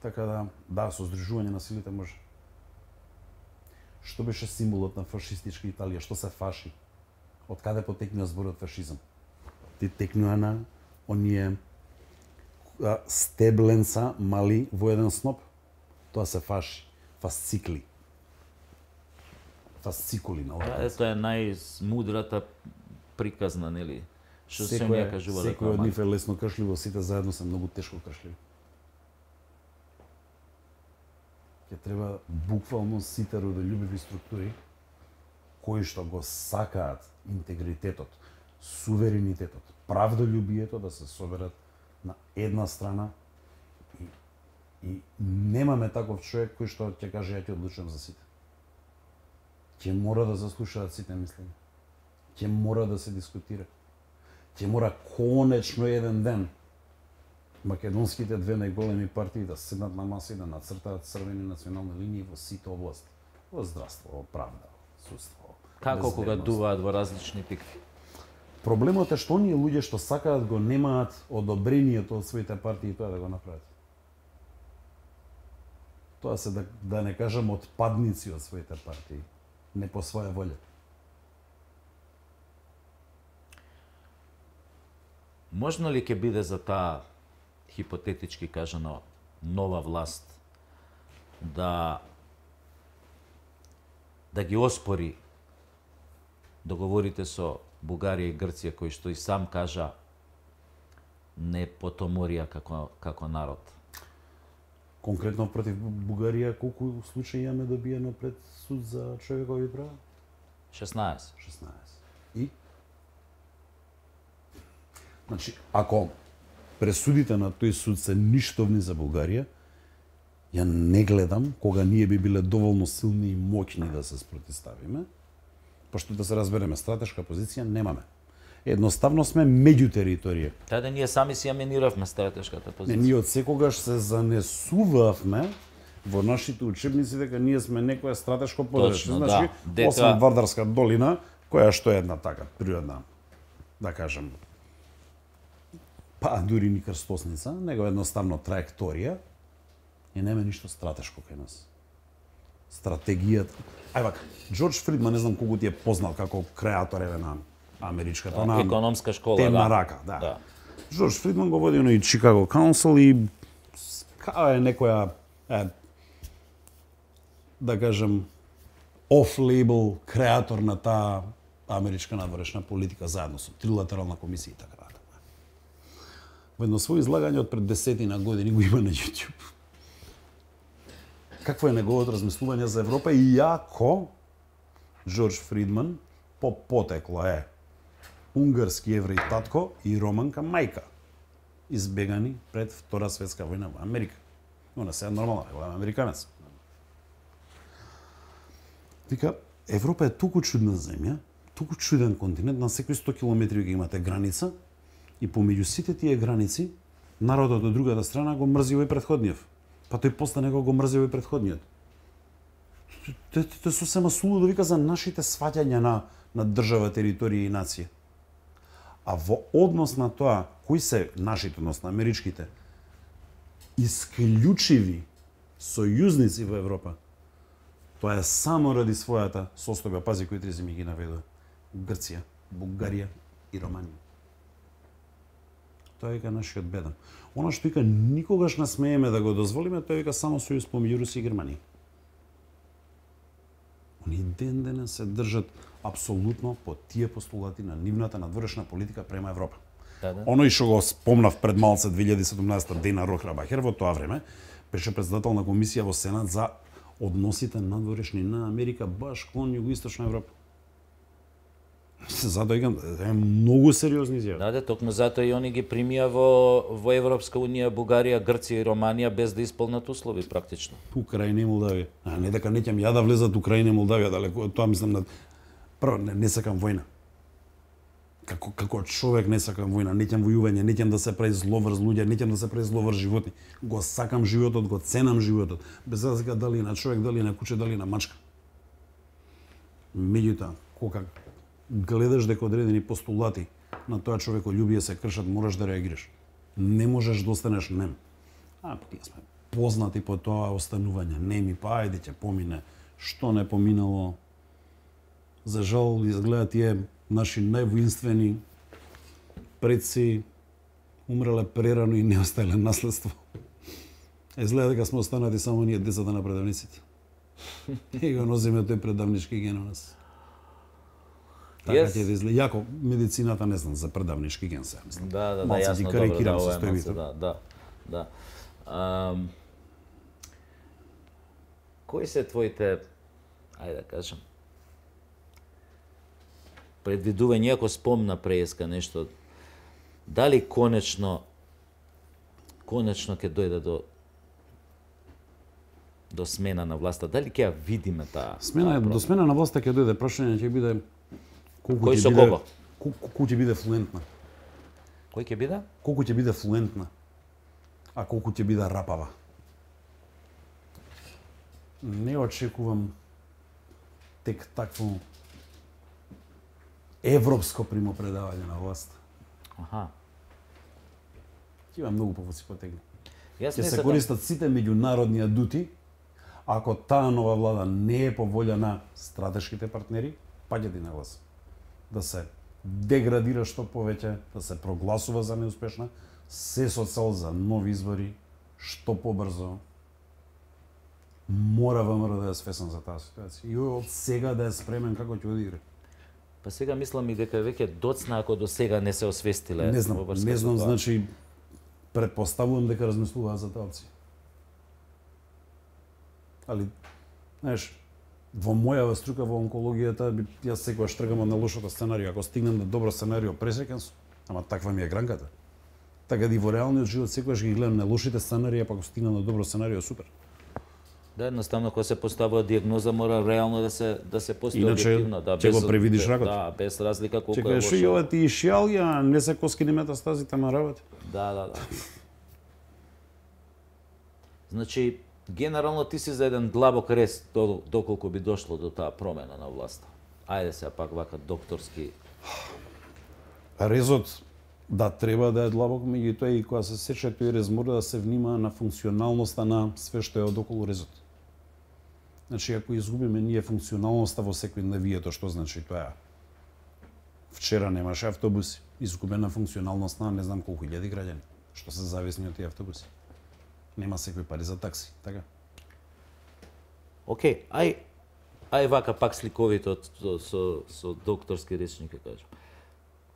Така да, да, со здружување на силите може. Што беше символот на фашистичка Италија? Што се фаши? Од каде потекнува зборот фашизам? Ти текнува на оние стебленца мали во еден сноп. Тоа се фаши. Фасцикли. Фасцикули на ова. Тоа е најмудрата приказна, нели? Што се ми ја кажува. Секој од нив е лесно кршливо, сите заедно се многу тешко кршливи. Ќе треба буквално сите родолюбиви структури кои што го сакаат интегритетот, суверенитетот, правдолюбието да се соберат на една страна и, и немаме таков човек кој што ќе каже ја ќе одлучувам за сите. ќе мора да заслушаат сите мислења. Ќе мора да се дискутира. Ќе мора конечно еден ден македонските две најголеми партии да седнат на маса и да нацртаат црвени национални линии во сите области. Во здравство, во правда, во судство. Како кога дуваат во различни пикви? Проблемот е што оние луѓе што сакаат го немаат одобрението од своите партии тоа да го направат. Тоа се да, да не кажам отпадници од своите партии, не по своја волја. Можно ли ќе биде за таа хипотетички кажано нова власт да да ги оспори договорите со Бугарија и Грција, кои што и сам кажа не потоморија како како народ? Конкретно против Бугарија колку случаи имаме добиено пред суд за човекови права? шеснаесет. шеснаесет. И значи, ако пресудите на тој суд се ништовни за Бугарија, ја не гледам кога ние би биле доволно силни и моќни да се спротивставиме, пошто да се разбереме, стратешка позиција немаме. Едноставно сме меѓу територија. Таде ние сами си ја миниравме стратешката позиција. Не, ние од секогаш се занесувавме во нашите учебници дека ние сме некое стратешко подрачје. Значи, да. Дека... освен Вардарска долина, која што е една така природна, да кажем, па дури ни крстосница, него едноставно траекторија и нема ништо стратешко кај нас. Стратегијата. Ај вака, Џорџ Фридман, не знам колку ти е познат како креатор еве на америчката, да, на економска школа, темна да. рака, да. да. Џорџ Фридман го води оној Чикаго Каунсил и као е некоја е, да кажем оф-лейбл креатор на таа америчка надворешна политика заедно со трилатерална комисија и така натаму. Во едно своје излагање од пред десетина години го има на YouTube. Какво е неговото размислување за Европа и јако Џорџ Фридман по потекло е унгарски евреј татко и романка мајка, избегани пред Втора светска војна во Америка. Она се е нормална, голем американец. Вика, Европа е толку чудна земја, толку чуден континент, на секои сто километри ги имате граница и помеѓу сите тие граници народот од другата страна го мрзи овој претходниот. Па тој после него го мрзи овој претходниот. Тоа сосема сулудо вика за нашите сваќања на на држава, територија и нација. А во однос на тоа, кои се нашите, односно америчките, исклучиви сојузници во Европа, тоа е само ради својата состојба, пази кои три земи ги наведува. Грција, Бугарија и Романија. Тоа вика нашиот бедам. Она што вика никогаш не смееме да го дозволиме, тоа вика само сојуз помеѓу Русија и Германија. Они ден денес се држат апсолутно по тие постулати на нивната надворешна политика према Европа. Да, да. Оној што го спомнав пред малце две илјади и седумнаесета Дена Рохрабахер во тоа време беше председател на комисија во Сенат за односите надворешни на Америка баш кон југоисточна Европа. Затоа е многу сериозни изјави. Да, да, токму затоа и они ги примија во во Европска унија Бугарија, Грција и Романија без да исполнат услови практично. Украина и Молдавија. А не дека неќам ја да влезат Украина и Молдавија, далеко тоа мислам на прво не, не сакам војна. Како како човек не сакам војна, неќам војување, неќам да се прави зло врз луѓе, неќам да се прави зло врз животни. Го сакам животот, го ценам животот, без разлика дали на човек, дали на куче, дали на мачка. Меѓутоа, кога гледаш дека одредени постулати на тоа човеколюбие се кршат, мораш да реагираш. Не можеш да останеш нем. А, тие сме познати по тоа останување. Неми, па ајде ќе помине. Што не поминало? За жал, изгледа тие наши највоинствени предци умреле прерано и не оставиле наследство. Изгледа дека сме останати само ние децата на предавниците. И го носиме тој предавнички ген у нас. Така Yes. ќе да изгледа. Јако, медицината не знам за предавнички ген се, мислам. Да, да, да, Малце јасно, ги добро, карикирам да, ова е состојбите. малце, да, да, да. Ам, кои се твоите, ајде да кажам, предвидување, ако спомна преска нешто, дали конечно, конечно ќе дојде до до смена на власта? Дали ќе ја видиме таа? Смена до смена на власта ќе дојде, прашање ќе биде колку Кој ќе со биде кого? колку ќе биде флуентна. Кој ќе биде? Колку ќе биде флуентна, а колку ќе биде рапава. Не очекувам тек такво европско примопредавање на власт. Аха. Ќе има многу повоци потегни. Јас Ќе не се сакам- користат сите меѓународни адути, ако таа нова влада не е по волја на стратешките партнери, паѓате на глас. Да се деградира што повеќе, да се прогласува за неуспешна, се со цел за нови избори, што побрзо. Мора ВМРО да е свесен за таа ситуација. И од сега да е спремен како ќе одигра. Па сега мислам и дека веќе доцна ако до сега не се освестиле. Не знам, во врска не со знам, тоа. значи претпоставувам дека размислуваат за таа опција. Али, знаеш, во мојава струка во онкологијата, би- јас секогаш тргам од најлошото сценарио. Ако стигнем до добро сценарио, пресреќен сум. Ама таква ми е гранката. Така да и во реалниот живот секогаш ги гледам најлошите сценарии, па ако стигнам до добро сценарио, супер. Да, едноставно кога се поставува диагноза мора реално да се да се постои Иначе, објективно, да, ќе го превидиш ракот. Да, без разлика колку Ќе е кажеш, и лошо. ова ти и шијалија, не се коскини метастазите, ма работи. Да, да, да. Значи, генерално ти си за еден длабок рез до, доколку би дошло до таа промена на власта. Ајде сега пак вака докторски. Резот да треба да е длабок, меѓутоа и кога се сече тој рез мора да се внимава на функционалноста на све што е одоколу резот. Значи, ако изгубиме ние функционалноста во секој навието, што значи тоа? Вчера немаше автобуси, изгубена функционалност на не знам колку илјади граѓани, што се зависни од тие автобуси. Нема секој пари за такси, така? Океј, ај ај вака пак сликовито со, со, со докторски речник ќе кажам.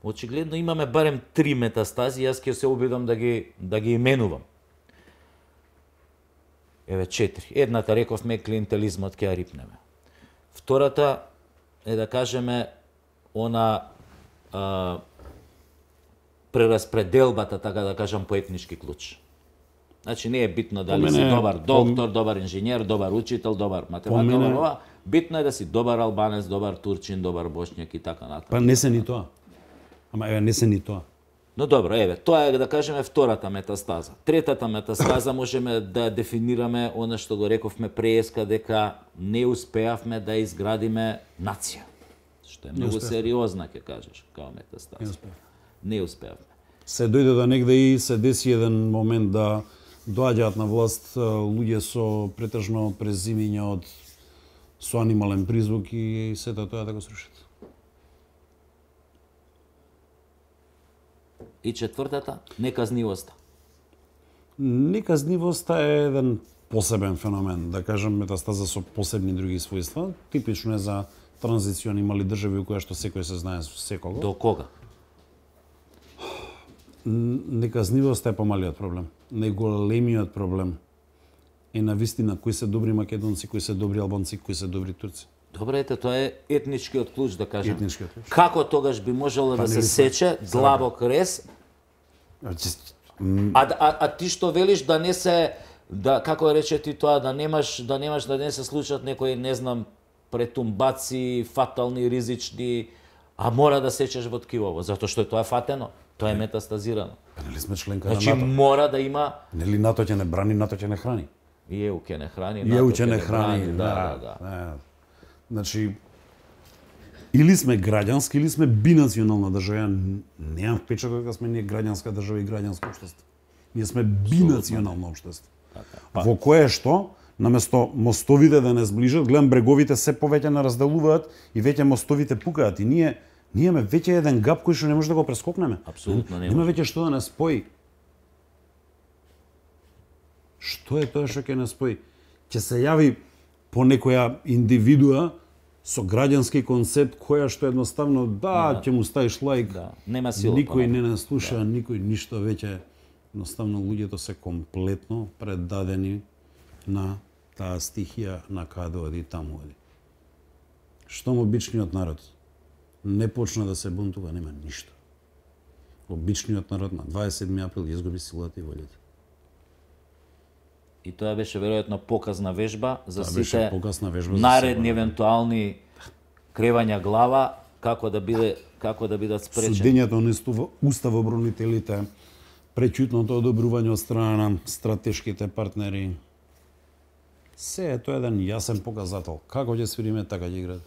Очигледно имаме барем три метастази, јас ќе се обидам да ги да ги именувам. Еве четири. Едната рековме клиентелизмот ќе ја рипнеме. Втората е да кажеме она а, прераспределбата, така да кажам, по етнички клуч. Значи не е битно дали По си мене- добар доктор, добар инженер, добар учител, добар математик, мене- добар ова. Битно е да си добар албанец, добар турчин, добар бошњак и така натаму. Па не се ни тоа. Ама еве не се ни тоа. Но добро, еве, тоа е да кажеме втората метастаза. Третата метастаза можеме да ја дефинираме она што го рековме преска дека не успеавме да изградиме нација. Што е многу успеавме. сериозна, ќе кажеш, као метастаза. Не успеавме. Не успеавме. Се дојде до негде и се деси еден момент да доаѓаат на власт а, луѓе со претежно презимиња од со анимален призвук и сето тоа да го срушат. И четвртата, неказнивоста. Неказнивоста е еден посебен феномен, да кажам метастаза со посебни други својства. Типично е за транзициони мали држави у која што секој се знае со секого. До кога? Неказнивоста е помалиот проблем. Најголемиот проблем е на вистина кои се добри македонци, кои се добри албанци, кои се добри турци. Добре, ете, тоа е етничкиот клуч, да кажем. Етничкиот клуч. Како тогаш би можело да не се ли сече длабок рез, Значи, а, а, а ти што велиш да не се, да, како рече ти тоа, да немаш, да немаш, да не се случат некои, не знам, претумбаци, фатални, ризични, а мора да сечеш во ткивово, затоа што тоа е фатено, тоа е метастазирано. Па нели сме членка Значи на НАТО? мора да има Нели НАТО ќе не брани, НАТО ќе не храни. и ЕУ ќе не храни, И НАТО ЕУ ќе не брани, храни, да, да, да. да. Значи, или сме граѓански, или сме бинационална држава. Ја немам впечаток дека сме ние граѓанска држава и граѓанско општество. Ние сме бинационално општество. Па. Во кое што, наместо мостовите да не сближат, гледам бреговите се повеќе не разделуваат и веќе мостовите пукаат. И ние, ние имаме веќе еден гап кој што не може да го прескокнеме. Апсолутно не Нема може. веќе што да не спои. Што е тоа што ќе не спои? Ќе се јави по некоја индивидуа со граѓански концепт која што едноставно да, ќе му ставиш лайк. Да, нема сила. Никој понатаму. не нас слуша, да. Никој ништо веќе. Едноставно луѓето се комплетно предадени на таа стихија на каде оди таму оди. Штом обичниот народ не почна да се бунтува, нема ништо. Обичниот народ на дваесет и седми април изгуби силата и волјата. И тоа беше веројатно показна вежба за Тоа беше сите показна вежба за наредни себе, да. евентуални кревања глава како да биде како да бидат спречени. Судењето на уставобронителите, преќутното одобрување од страна на стратешките партнери. Се е тоа еден јасен показател. Како ќе свириме, така ќе играат.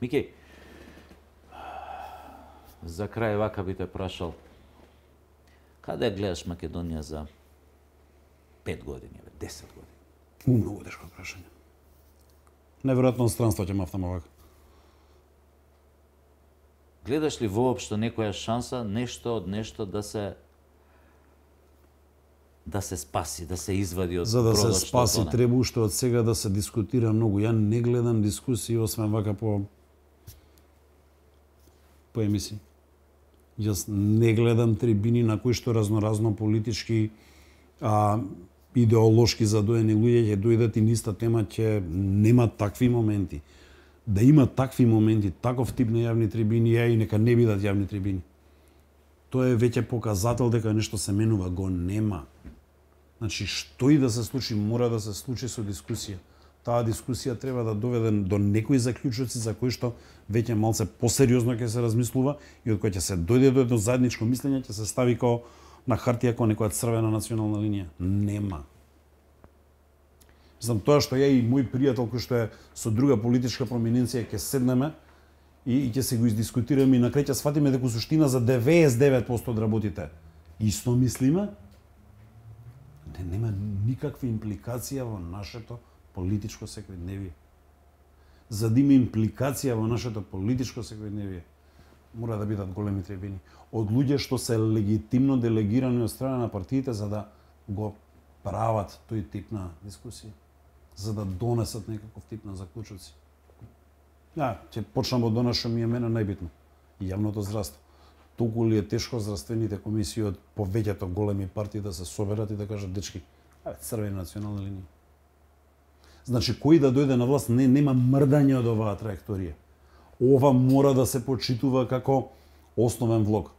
Мики, за крај вака би те прашал, каде гледаш Македонија за пет години, десет години? Многу тешко прашање. Неверојатно странство ќе мафтам овака. Гледаш ли воопшто некоја шанса нешто од нешто да се да се спаси, да се извади од За да се бродот што спаси тоне? треба уште од сега да се дискутира многу. Ја не гледам дискусии освен вака по по емисии. Јас не гледам трибини на кои што разноразно политички а идеолошки задоени луѓе ќе дојдат и ниста тема ќе нема такви моменти. Да има такви моменти, таков тип на јавни трибини, ја и нека не бидат јавни трибини. Тоа е веќе показател дека нешто се менува, го нема. Значи, што и да се случи, мора да се случи со дискусија. Таа дискусија треба да доведе до некои заклучоци за кои што веќе малце посериозно ќе се размислува и од кои ќе се дојде до едно заедничко мислење, ќе се стави као на хартија као некоја црвена национална линија. Нема. Знам тоа што ја и мој пријател кој што е со друга политичка проминенција ќе седнеме и, и ќе се го издискутираме и на крај ќе сфатиме дека суштина за деветдесет и девет проценти од работите исто мислиме. Не, нема никаква импликација во нашето политичко секојдневие. За да има импликација во нашето политичко секојдневие, мора да бидат големи трибини од луѓе што се легитимно делегирани од страна на партиите за да го прават тој тип на дискусија, за да донесат некаков тип на заклучоци. Ja, ќе почнам од она што ми е мене најбитно. Јавното здравство. Толку ли е тешко здравствените комисии од повеќето големи партии да се соберат и да кажат дечки, аве црвени национална линија. Значи кој да дојде на власт не нема мрдање од оваа траекторија. Ова мора да се почитува како основен влог.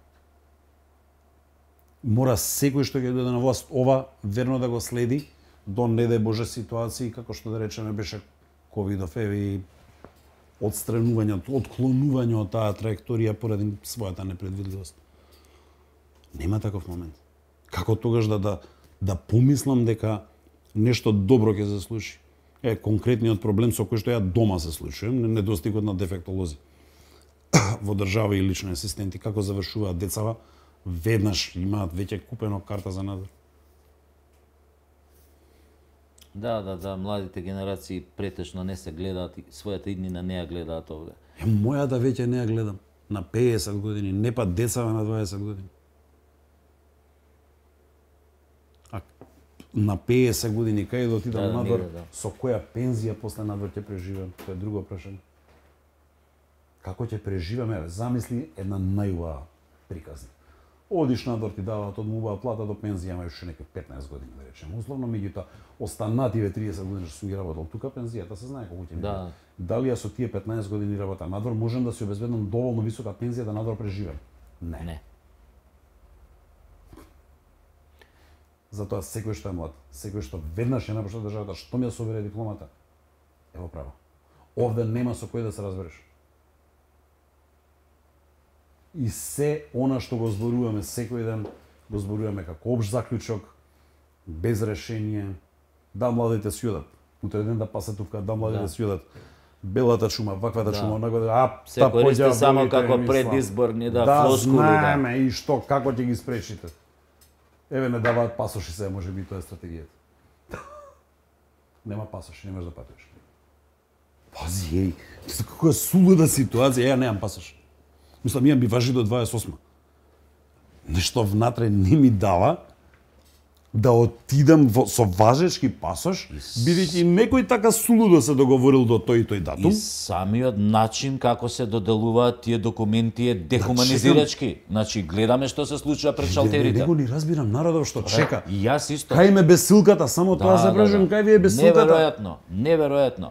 Мора секој што ќе дојде на власт ова верно да го следи до не дај Боже ситуации како што да речеме беше ковидов еви отстранување, отклонување од таа траекторија поради својата непредвидливост. Нема таков момент. Како тогаш да да да помислам дека нешто добро ќе се случи? Е конкретниот проблем со кој што ја дома се случувам, недостигот на дефектолози во држава и лични асистенти, како завршуваат децава, веднаш имаат веќе купено карта за надвор. Да, да, да, младите генерации претешно не се гледаат, својата иднина не ја гледаат овде. Е, мојата веќе не ја гледам. На педесет години, не па децава на дваесет години. А на педесет години, кај да отидам Да, да, надвор, негде, да. со која пензија после надвор ќе преживеам? Тоа е друго прашање. Како ќе преживеаме? Замисли една најубава приказна. Одиш надвор, ти даваат од мубава плата до пензија, имаš уште некои петнаесет години, да речем. Условно, меѓутоа, останативе триесет години што си ги работел тука, пензијата се знае колку ќе ми Да. Дали ја со тие петнаесет години работа надвор можам да си обезбедам доволно висока пензија да надвор преживеам? Не. Не. Затоа секој што е млад, секој што веднаш ја напушта државата, што ми ја собере дипломата, ево право. Овде нема со кој да се разбереш. И се она што го зборуваме секој ден, го зборуваме како општ заклучок, без решение. Да, младите си одат. Утре ден да пасетувка, да, младите Да. си одат. Белата чума, ваквата Да. чума, онаква, а, Се та користи поѓа само волите, како мислам. предизборни, да, да, флоскули, да. знаеме и што, како ќе ги спречите. Еве не даваат пасоши се, може би тоа е стратегијата. Нема пасоши, не можеш да патуваш. Пази, еј, како е сулуда ситуација, ја немам пасош. Мислам, имам би важи до дваесет и осма. Нешто внатре не ми дава да отидам во, со важечки пасош, бидејќи некој така сулудо се договорил до тој и тој датум. И самиот начин како се доделуваат тие документи е дехуманизирачки. Значи, гледаме што се случува пред Не, шалтерите. не го ни разбирам народов што чека. И јас исто. Кај ме бесилката, само тоа се прашувам, кај ви е бесилката? Неверојатно, неверојатно.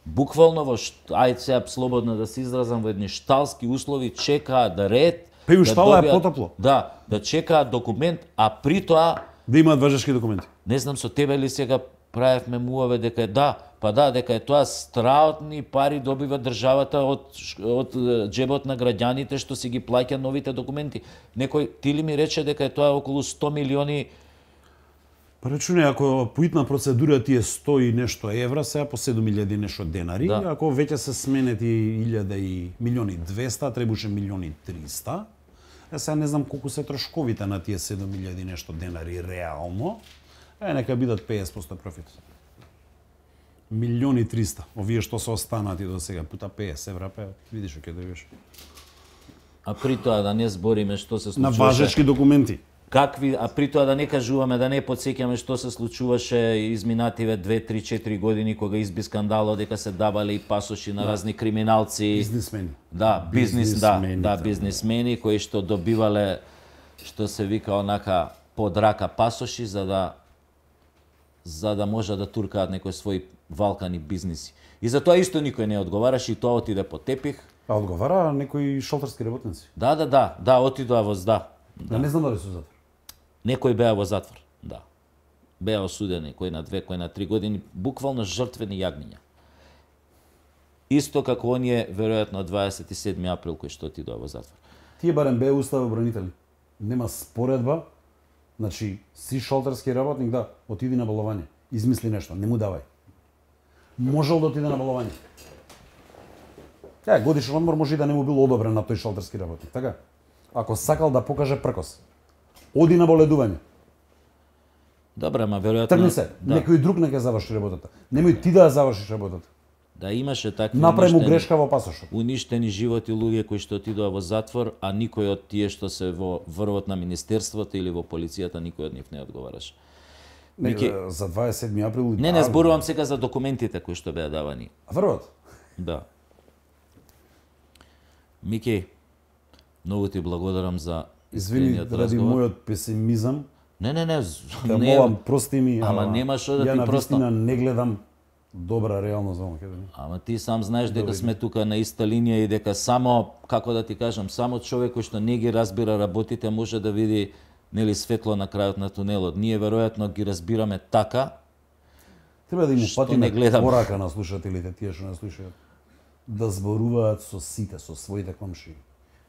Буквално во шт... ајде сега слободно да се изразам во едни шталски услови чекаат да ред. Па и у да штала е добијат- потопло. Да, да чекаат документ, а при тоа Да имаат важешки документи. Не знам со тебе ли сега правевме муаве дека е да, па да, дека е тоа страотни пари добива државата од од џебот на граѓаните што си ги плаќа новите документи. Некој ти ли ми рече дека е тоа околу сто милиони. Па речуне, ако поитна процедура ти е сто и нешто евра, сега по седум илјади нешто денари, Да. ако веќе се сменети илјада и милиони двеста, требуше милиони триста. Е, сега не знам колку се трошковите на тие седум илјади нешто денари реално. Е, нека бидат петдесет проценти профит. Милиони триста. Овие што се останати до сега, пута петдесет евра, па видиш што ќе добиеш. А при тоа да не збориме што се На случуваше. важечки документи. Какви, а при тоа да не кажуваме, да не потсеќаме што се случуваше изминативе две, три, четири години кога изби скандалот дека се давале и пасоши на разни криминалци. Бизнисмени. Да, бизнес, да, Бизнисмени, да, да. бизнисмени кои што добивале, што се вика онака под рака пасоши за да за да може да туркаат некои своји валкани бизниси. И за тоа исто никој не одговараше и тоа отиде по тепих. А одговара некои шолтерски работници. Да, да, да, да, отидоа во да. Да. Не знам дали се затвор. Некои беа во затвор, да. Беа осудени, кој на две, кој на три години, буквално жртвени јагниња. Исто како оние, веројатно, дваесет и седми април, кој што отидоа во затвор. Тие барем беа уставобранители. Нема споредба. Значи, си шолтерски работник, да, отиди на боловање. Измисли нешто, не му давај. Можел да отиде на боловање. Е, годишен одмор може и да не му бил одобрен на тој шолтерски работник, така? Ако сакал да покаже пркос, оди на боледување. Добре, ама веројатно... Тргни се, да, некој друг нека заврши работата. Немој ти да ја завршиш работата. да имаше такви Направи му уништени- грешка во пасошот. уништени животи луѓе кои што отидоа во затвор, а никој од тие што се во врвот на министерството или во полицијата, никој од нив не одговараше. Не, Мики- за дваесет и седми април... Не, не зборувам сега за документите кои што беа давани. Врвот. Да. Мики, многу ти благодарам за Извини, искрениот ради разговор. мојот песимизам, Не, не, не, з- да не, молам, прости ми, Ама нема што да ја ти на простам. вистина не гледам добра реалност во Македонија. Ама ти сам знаеш дека Добре. сме тука на иста линија и дека само, како да ти кажам, само човек кој што не ги разбира работите може да види нели светло на крајот на тунелот. Ние веројатно ги разбираме така. Треба да им Што упатиме не гледам. порака на слушателите, тие што не слушаат, да зборуваат со сите, со своите комшии,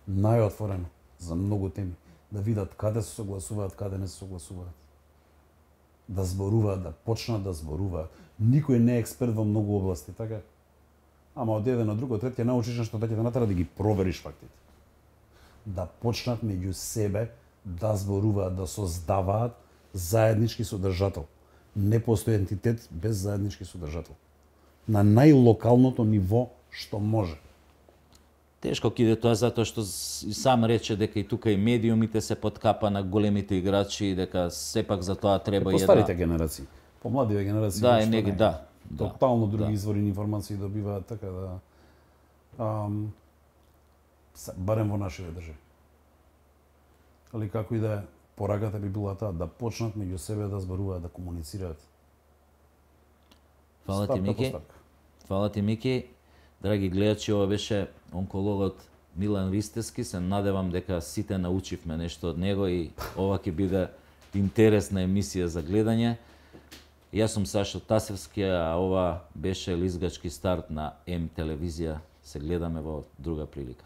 најотворено за многу теми, да видат каде се согласуваат, каде не се согласуваат. Да зборуваат, да почнат да зборуваат. Никој не е експерт во многу области, така? Ама од еден на друг, од трет ќе научиш нешто, да ќе те натера да ги провериш фактите. Да почнат меѓу себе да зборуваат, да создаваат заеднички содржател. Не постои ентитет без заеднички содржател. На најлокалното ниво што може. Тешко ќе иде тоа затоа што с- и сам рече дека и тука и медиумите се подкапа на големите играчи и дека сепак за тоа треба По и старите една... генерации. По младиве генерации. Да, нешто и неги, не. да. да. Тотално други да. извори на информации добиваат, така да... Ам, се- барем во нашите држави. Али како и да е, пораката би била таа, да почнат меѓу себе да зборуваат, да комуницираат. Фала ти, Стапка по Мики. стапка. Фала ти, Мики. Драги гледачи, ова беше онкологот Милан Ристевски. Се надевам дека сите научивме нешто од него и ова ќе биде интересна емисија за гледање. Јас сум Сашо Тасевски, а ова беше лизгачки старт на М телевизија. Се гледаме во друга прилика.